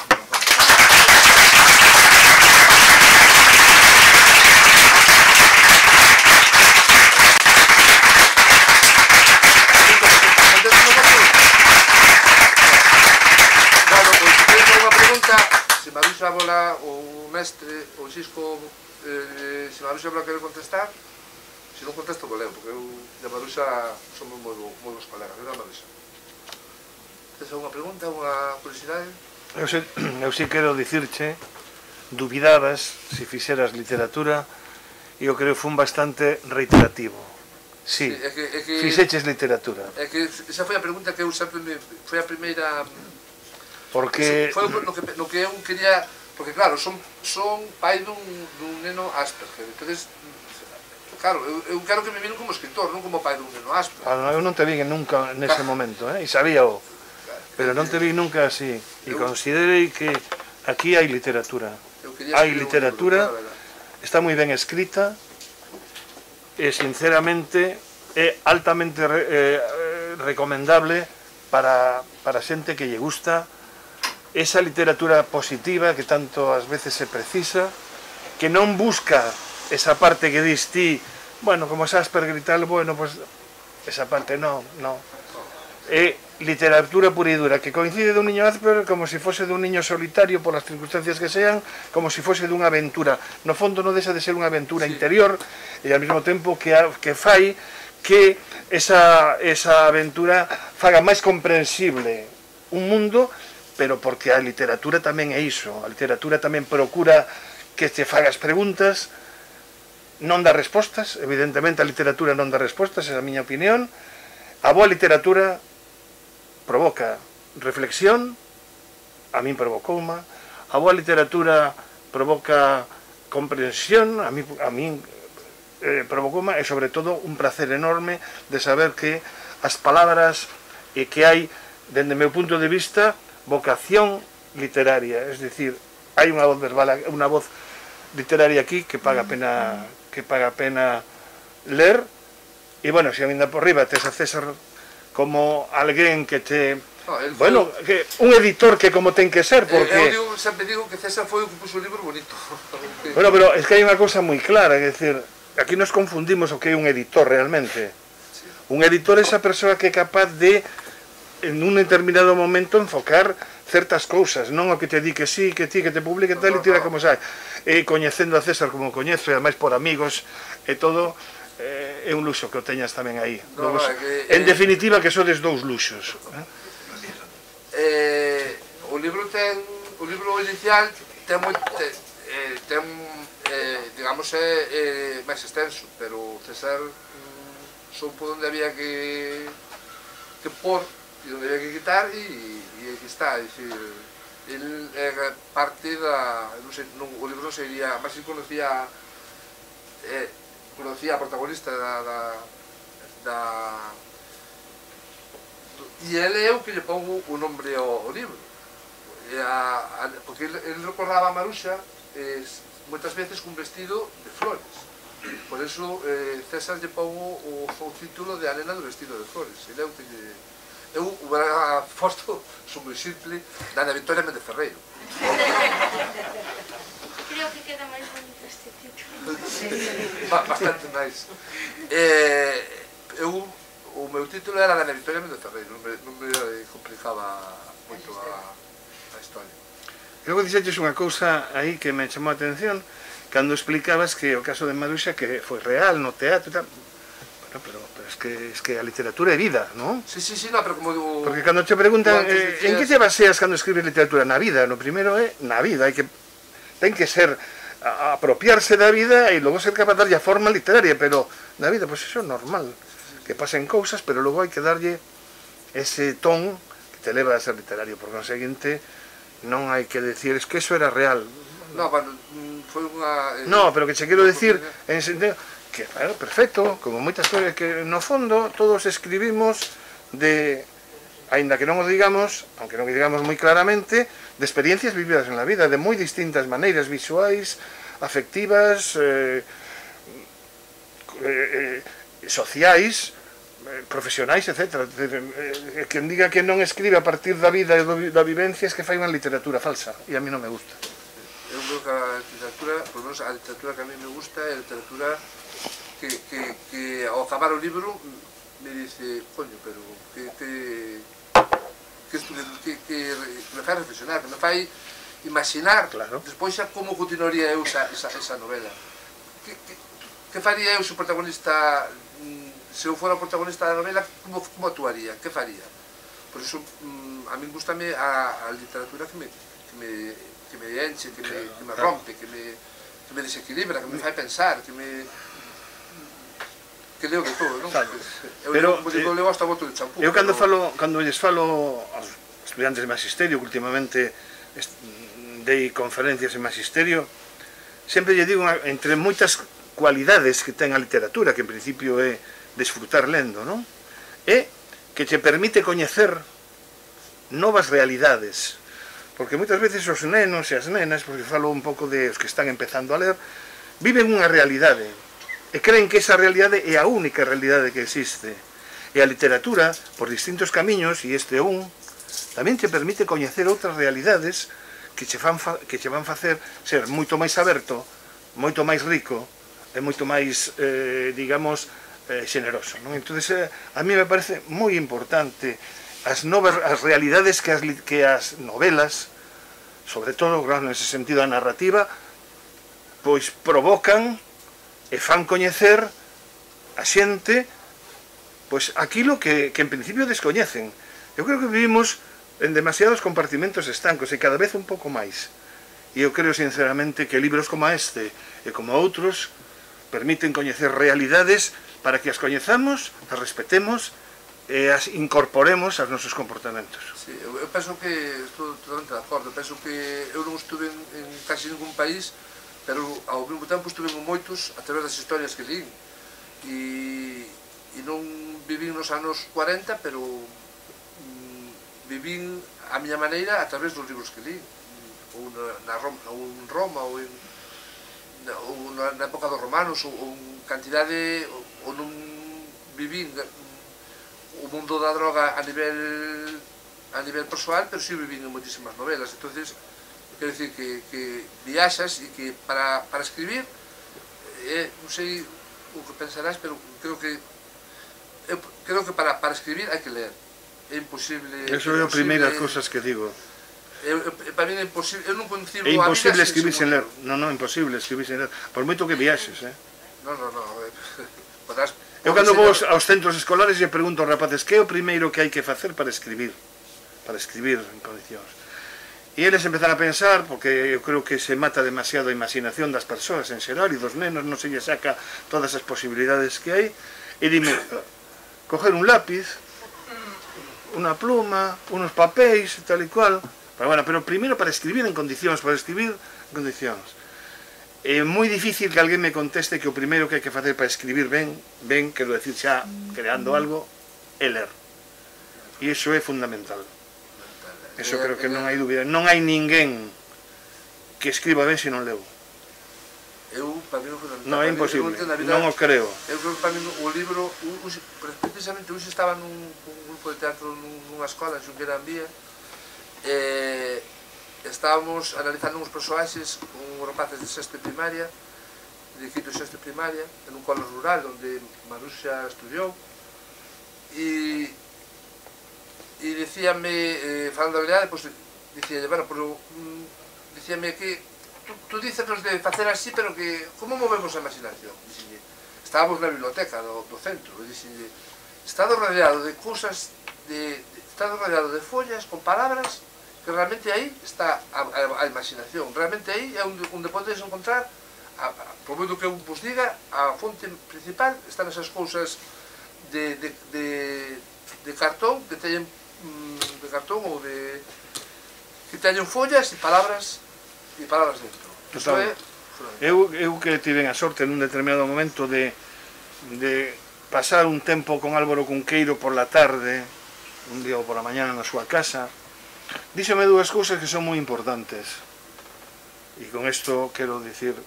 Se Maruxa bola o mestre, o Xisco, eh, se Maruxa bola quere contestar, se non contesto vou leo, porque eu e a Maruxa somos moi, moi bons colegas, non, Maruxa? Tens alguna pregunta, alguna curiosidade? Eu si, eu si quero dicirche, dubidabas se fixeras literatura e eu creo que fun bastante reiterativo. Sí, sí é que, é que, fixeches literatura. É que esa foi a pregunta que eu sempre me, foi a primeira... Porque... Foi no que, no que eu quería... Porque claro, son, son pai dun, dun neno Asperger, entonces, claro, eu, eu quero que me miren como escritor, non como pai dun neno Asperger. Ah, eu non te vi nunca nese claro. momento, eh? E sabíao, pero non te vi nunca así. E considerei que aquí hai literatura. Hai literatura, está moi ben escrita, e sinceramente é altamente re, eh, recomendable para, para xente que lle gusta esa literatura positiva que tanto ás veces se precisa, que non busca esa parte que dis ti, bueno, como Asperger e tal, bueno, pues esa parte non, non. É literatura pura e dura, que coincide dun niño Asperger como se fose dun niño solitario por as circunstancias que sean, como se fose dunha aventura. No fondo non deixa de ser unha aventura sí. interior, e ao mesmo tempo que, que fai que esa, esa aventura faga máis comprensible un mundo, pero porque a literatura tamén é iso. A literatura tamén procura que te fagas preguntas, non dá respostas, evidentemente a literatura non dá respostas, é a miña opinión. A boa literatura provoca reflexión, a min provocoume, a boa literatura provoca comprensión, a min, a min eh, provocoume, e sobre todo un placer enorme de saber que as palabras e que hai, dende o meu punto de vista, vocación literaria, es decir, hai unha voz verbal, unha voz literaria aquí que paga pena que paga pena ler. E bueno, se ainda por riba tes a César como alguén que te oh, bueno, que un editor que como ten que ser, porque eu digo, sempre digo que César foi o que puso o libro bonito. Bueno, pero es que hai unha cousa moi clara, é dicir, aquí nos confundimos o que é un editor realmente. Sí. Un editor é esa persoa que é capaz de en un determinado momento enfocar certas cousas, non o que te di que sí, que ti, que te publique tal e tira como sai. E coñecendo a César como coñezo, e ademais por amigos e todo, eh, é un luxo que o teñas tamén aí. No, Dous, no, que, en eh, definitiva que sodes dous luxos. Eh? Eh, o libro ten, o libro inicial ten moi, ten, eh, ten eh, digamos é eh, máis extenso, pero César mm, son por onde había que que por e onde había que quitar e, e aquí está, é dicir, el é parte da, non sei, non, o libro non sería, máis se conocía eh, conocía a protagonista da, da, da e ele é o que lle pongo o nombre ao, ao libro, e a, a, porque ele, ele recordaba a Maruxa eh, moitas veces cun vestido de flores, por eso eh, César lle pongo o, o título de A nena do vestido de flores. Ele é o que lle... Eu hubiera posto, son moi simple, da Ana Victoria Méndez Ferreiro. Creo que queda máis bonito este título. Bastante máis. Eh, eu, o meu título era da Ana Victoria Méndez Ferreiro, non me, non me complicaba moito a, a historia. Logo dixeches unha cousa aí que me chamou a atención, cando explicabas que o caso de Maruxa que foi real no teatro e tal. No, pero, pero es, que, es que a literatura é vida, non? Sí, sí, sí, no, pero como digo... Porque cando te preguntan eh, decías... en que te baseas cando escribes literatura na vida, no primeiro é na vida, hai que ten que ser a, a apropiarse da vida e logo ser capaz de darlle a forma literaria, pero na vida, pois pues, eso é normal, que pasen cousas, pero logo hai que darlle ese ton que te leva a ser literario, por conseguinte non hai que decir, es que eso era real. No, bueno, foi unha... Eh, no, pero que che quero decir en sentido que, bueno, perfecto, como moitas cousas que no fondo todos escribimos de, aínda que non o digamos, aunque non o digamos moi claramente, de experiencias vividas en la vida, de moi distintas maneiras visuais, afectivas, eh, eh, sociais, eh, profesionais, etcétera. Eh, quen diga que non escribe a partir da vida e da vivencia es que fai unha literatura falsa, e a mí non me gusta. Eu creo que a literatura, por lo menos a literatura que a mí me gusta é a literatura que, que, que ao acabar o libro me dice, coño, pero que te... que, que, que me fai reflexionar, que me fai imaginar claro. Despois xa como continuaría eu esa, esa, esa novela. Que, que, que faría eu se o protagonista, se eu fora o protagonista da novela, como, como actuaría, que faría? Por iso, a mí gustame a, a literatura que me, que me, que me enche, que me, que me rompe, que me, que me desequilibra, que me fai pensar, que me... que leo de todo, non? Claro. Eu, Pero, como digo, eh, leo hasta boto de champú. Eu cando pero... falo, cando lles falo aos estudiantes de magisterio, que últimamente dei conferencias en magisterio, sempre lle digo, entre moitas cualidades que ten a literatura, que en principio é desfrutar lendo, non? É que te permite coñecer novas realidades, porque moitas veces os nenos e as nenas, porque falo un pouco de os que están empezando a ler, viven unha realidade, e creen que esa realidade é a única realidade que existe. E a literatura, por distintos camiños, e este é un, tamén te permite coñecer outras realidades que che, fan fa, que che van facer ser moito máis aberto, moito máis rico, e moito máis, eh, digamos, eh, xeneroso, non? Entón, eh, a mí me parece moi importante as novas as realidades que as, que as novelas, sobre todo, claro, nese sentido a narrativa, pois provocan e fan coñecer a xente pois aquilo que, que en principio descoñecen. Eu creo que vivimos en demasiados compartimentos estancos e cada vez un pouco máis. E eu creo sinceramente que libros como este e como outros permiten coñecer realidades para que as coñezamos, as respetemos e as incorporemos aos nosos comportamentos. Sí, eu, eu penso que estou totalmente de acordo, penso que eu non estuve en, en casi ningún país, pero ao mesmo tempo estuve en moitos a través das historias que lín, e, e non vivín nos anos cuarenta, pero mm, vivín a miña maneira a través dos libros que lín, ou na, na Roma, ou en Roma, ou, en, na, ou na, na época dos romanos, ou, ou en cantidade, ou, ou non vivín o mundo da droga a nivel a nivel persoal, pero si vivín en moitísimas novelas. Entonces, quero dicir que, que viaxas e que para, para escribir, eh, non sei o que pensarás, pero creo que eu creo que para, para escribir hai que ler. É imposible... Eso é a primeira cousas que digo. Eu, eu, para mí é imposible, eu non concibo é imposible a vida escribir sen ler. libro. Non, non, imposible escribir sen ler. Por moito que viaxes, eh? Non, non, non. Podrás... Eu cando vou aos centros escolares e pregunto aos rapaces que é o primeiro que hai que facer para escribir, para escribir en condicións. E eles empezan a pensar, porque eu creo que se mata demasiado a imaginación das persoas en xeral e dos nenos, non se lle saca todas as posibilidades que hai, e dime, coger un lápiz, unha pluma, unos papéis, tal e cual, pero, bueno, pero primeiro para escribir en condicións, para escribir en condicións. É moi difícil que alguén me conteste que o primeiro que hai que facer para escribir ben, ben, quero decir xa, creando algo, é ler. E iso é fundamental. Eso creo que non hai dúbida. Non hai ninguén que escriba ben se non leu. Eu, para mí, non foi non é imposible, non o creo. Eu creo que para mí o libro, precisamente, hoxe estaba nun grupo de teatro nunha escola en Xunqueira Ambía, e estábamos analizando uns personaxes con rapaces de sexto de primaria, de quinto e sexto de primaria, en un colo rural onde Maruxa estudiou, e e dicíame, eh, falando da verdade, pois, dicíalle, bueno, pero, mm, dicíame que tú, tú dices de facer así, pero que, como movemos a imaginación? Dicíalle, estábamos na biblioteca do, do centro, e dixen, estado rodeado de cousas, de, de, estado rodeado de follas con palabras, que realmente aí está a, a, a imaginación, realmente aí é onde, onde podes encontrar, a, a, por menos que eu vos diga, a fonte principal están esas cousas de, de, de, de cartón, que teñen de cartón ou de que teñen follas e palabras e palabras dentro. Isto é eu, eu que tive a sorte nun determinado momento de, de pasar un tempo con Álvaro Cunqueiro por la tarde, un día ou por la mañana na súa casa, díxome dúas cousas que son moi importantes, e con isto quero dicir,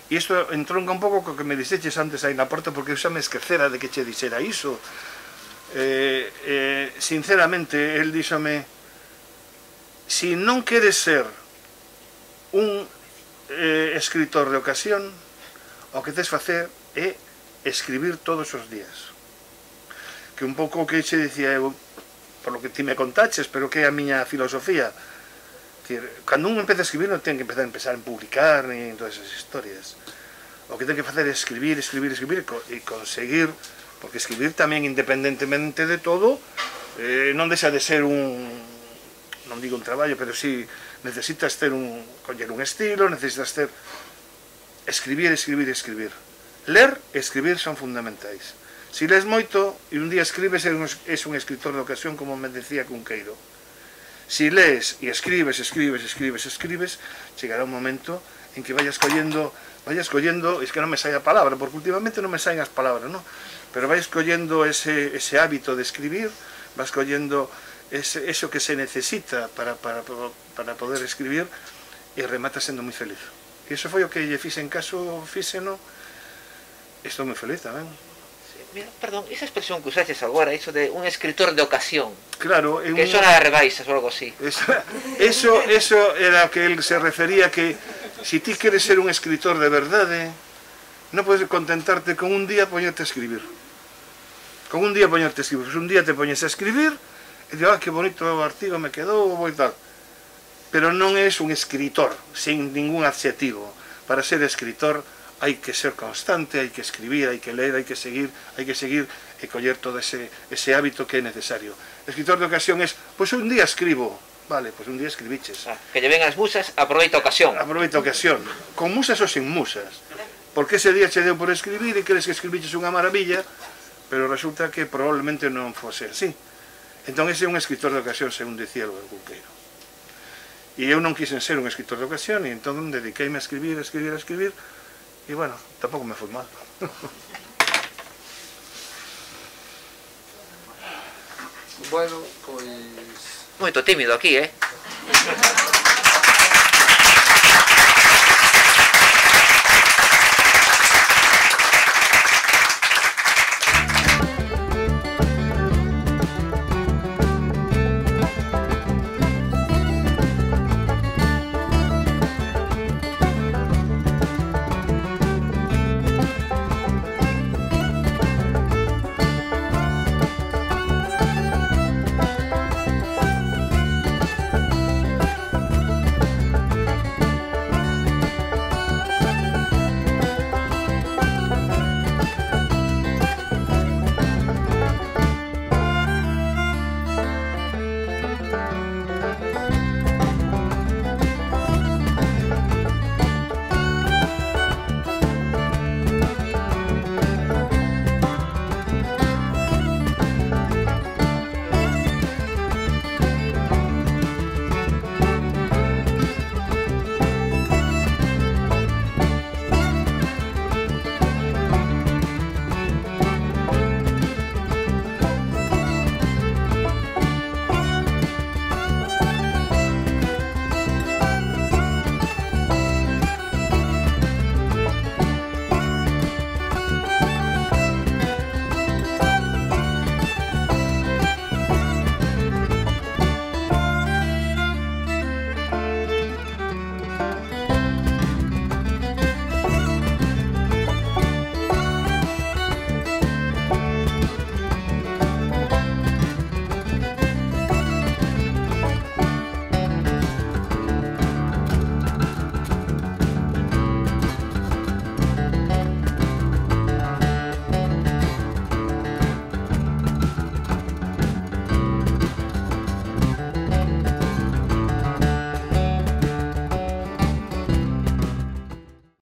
e isto entronca un pouco co que me dixeches antes aí na porta, porque eu xa me esquecera de que che dixera iso. Eh, eh, sinceramente, el díxome, si non queres ser un eh, escritor de ocasión, o que tes facer é escribir todos os días. Que un pouco o que che dicía eu, por lo que ti me contaches, pero que é a miña filosofía. Decir, cando un empeza a escribir non ten que empezar a empezar a publicar ni en todas esas historias. O que ten que facer é escribir, escribir, escribir e conseguir, porque escribir tamén independentemente de todo eh, non deixa de ser un, non digo un traballo, pero si necesitas ter un, coller un estilo, necesitas ter escribir, escribir, escribir. Ler e escribir son fundamentais. Si lees moito e un día escribes, és un escritor de ocasión, como me decía Cunqueiro. Si lees e escribes, escribes, escribes, escribes, chegará un momento en que vayas collendo, vayas collendo, es que non me sai a palabra, porque últimamente non me saen as palabras, ¿no? Pero vais collendo ese, ese hábito de escribir, vas collendo ese, eso que se necesita para, para, para poder escribir, e remata sendo moi feliz. E iso foi o que lle fixe en caso, fíxeno, estou moi feliz tamén. Mira, perdón, esa expresión que usaches agora, eso de un escritor de ocasión, claro, é un... que eso era de rebaixas ou algo así. Esa, eso, eso era que él se refería, que si ti queres ser un escritor de verdade, non podes contentarte con un día poñerte a escribir. Con un día poñerte a escribir. Pues un día te poñes a escribir e digo, ah, que bonito o artigo me quedou, e tal. Pero non és un escritor, sin ningún adxetivo. Para ser escritor hai que ser constante, hai que escribir, hai que ler, hai que seguir, hai que seguir e coller todo ese, ese hábito que é necesario. Escritor de ocasión é, pois un día escribo, vale, pois un día escribiches. Ah, que lle ven as musas, aproveita a ocasión. Aproveita a ocasión, con musas ou sin musas. Porque ese día che deu por escribir e crees que escribiches unha maravilla, pero resulta que probablemente non fose así. Entón ese é un escritor de ocasión, según dicía o Cunqueiro. E eu non quixen ser un escritor de ocasión, e entón dediqueime a escribir, a escribir, a escribir, e bueno, tampouco me foi mal. Bueno, pois... Moito tímido aquí, eh?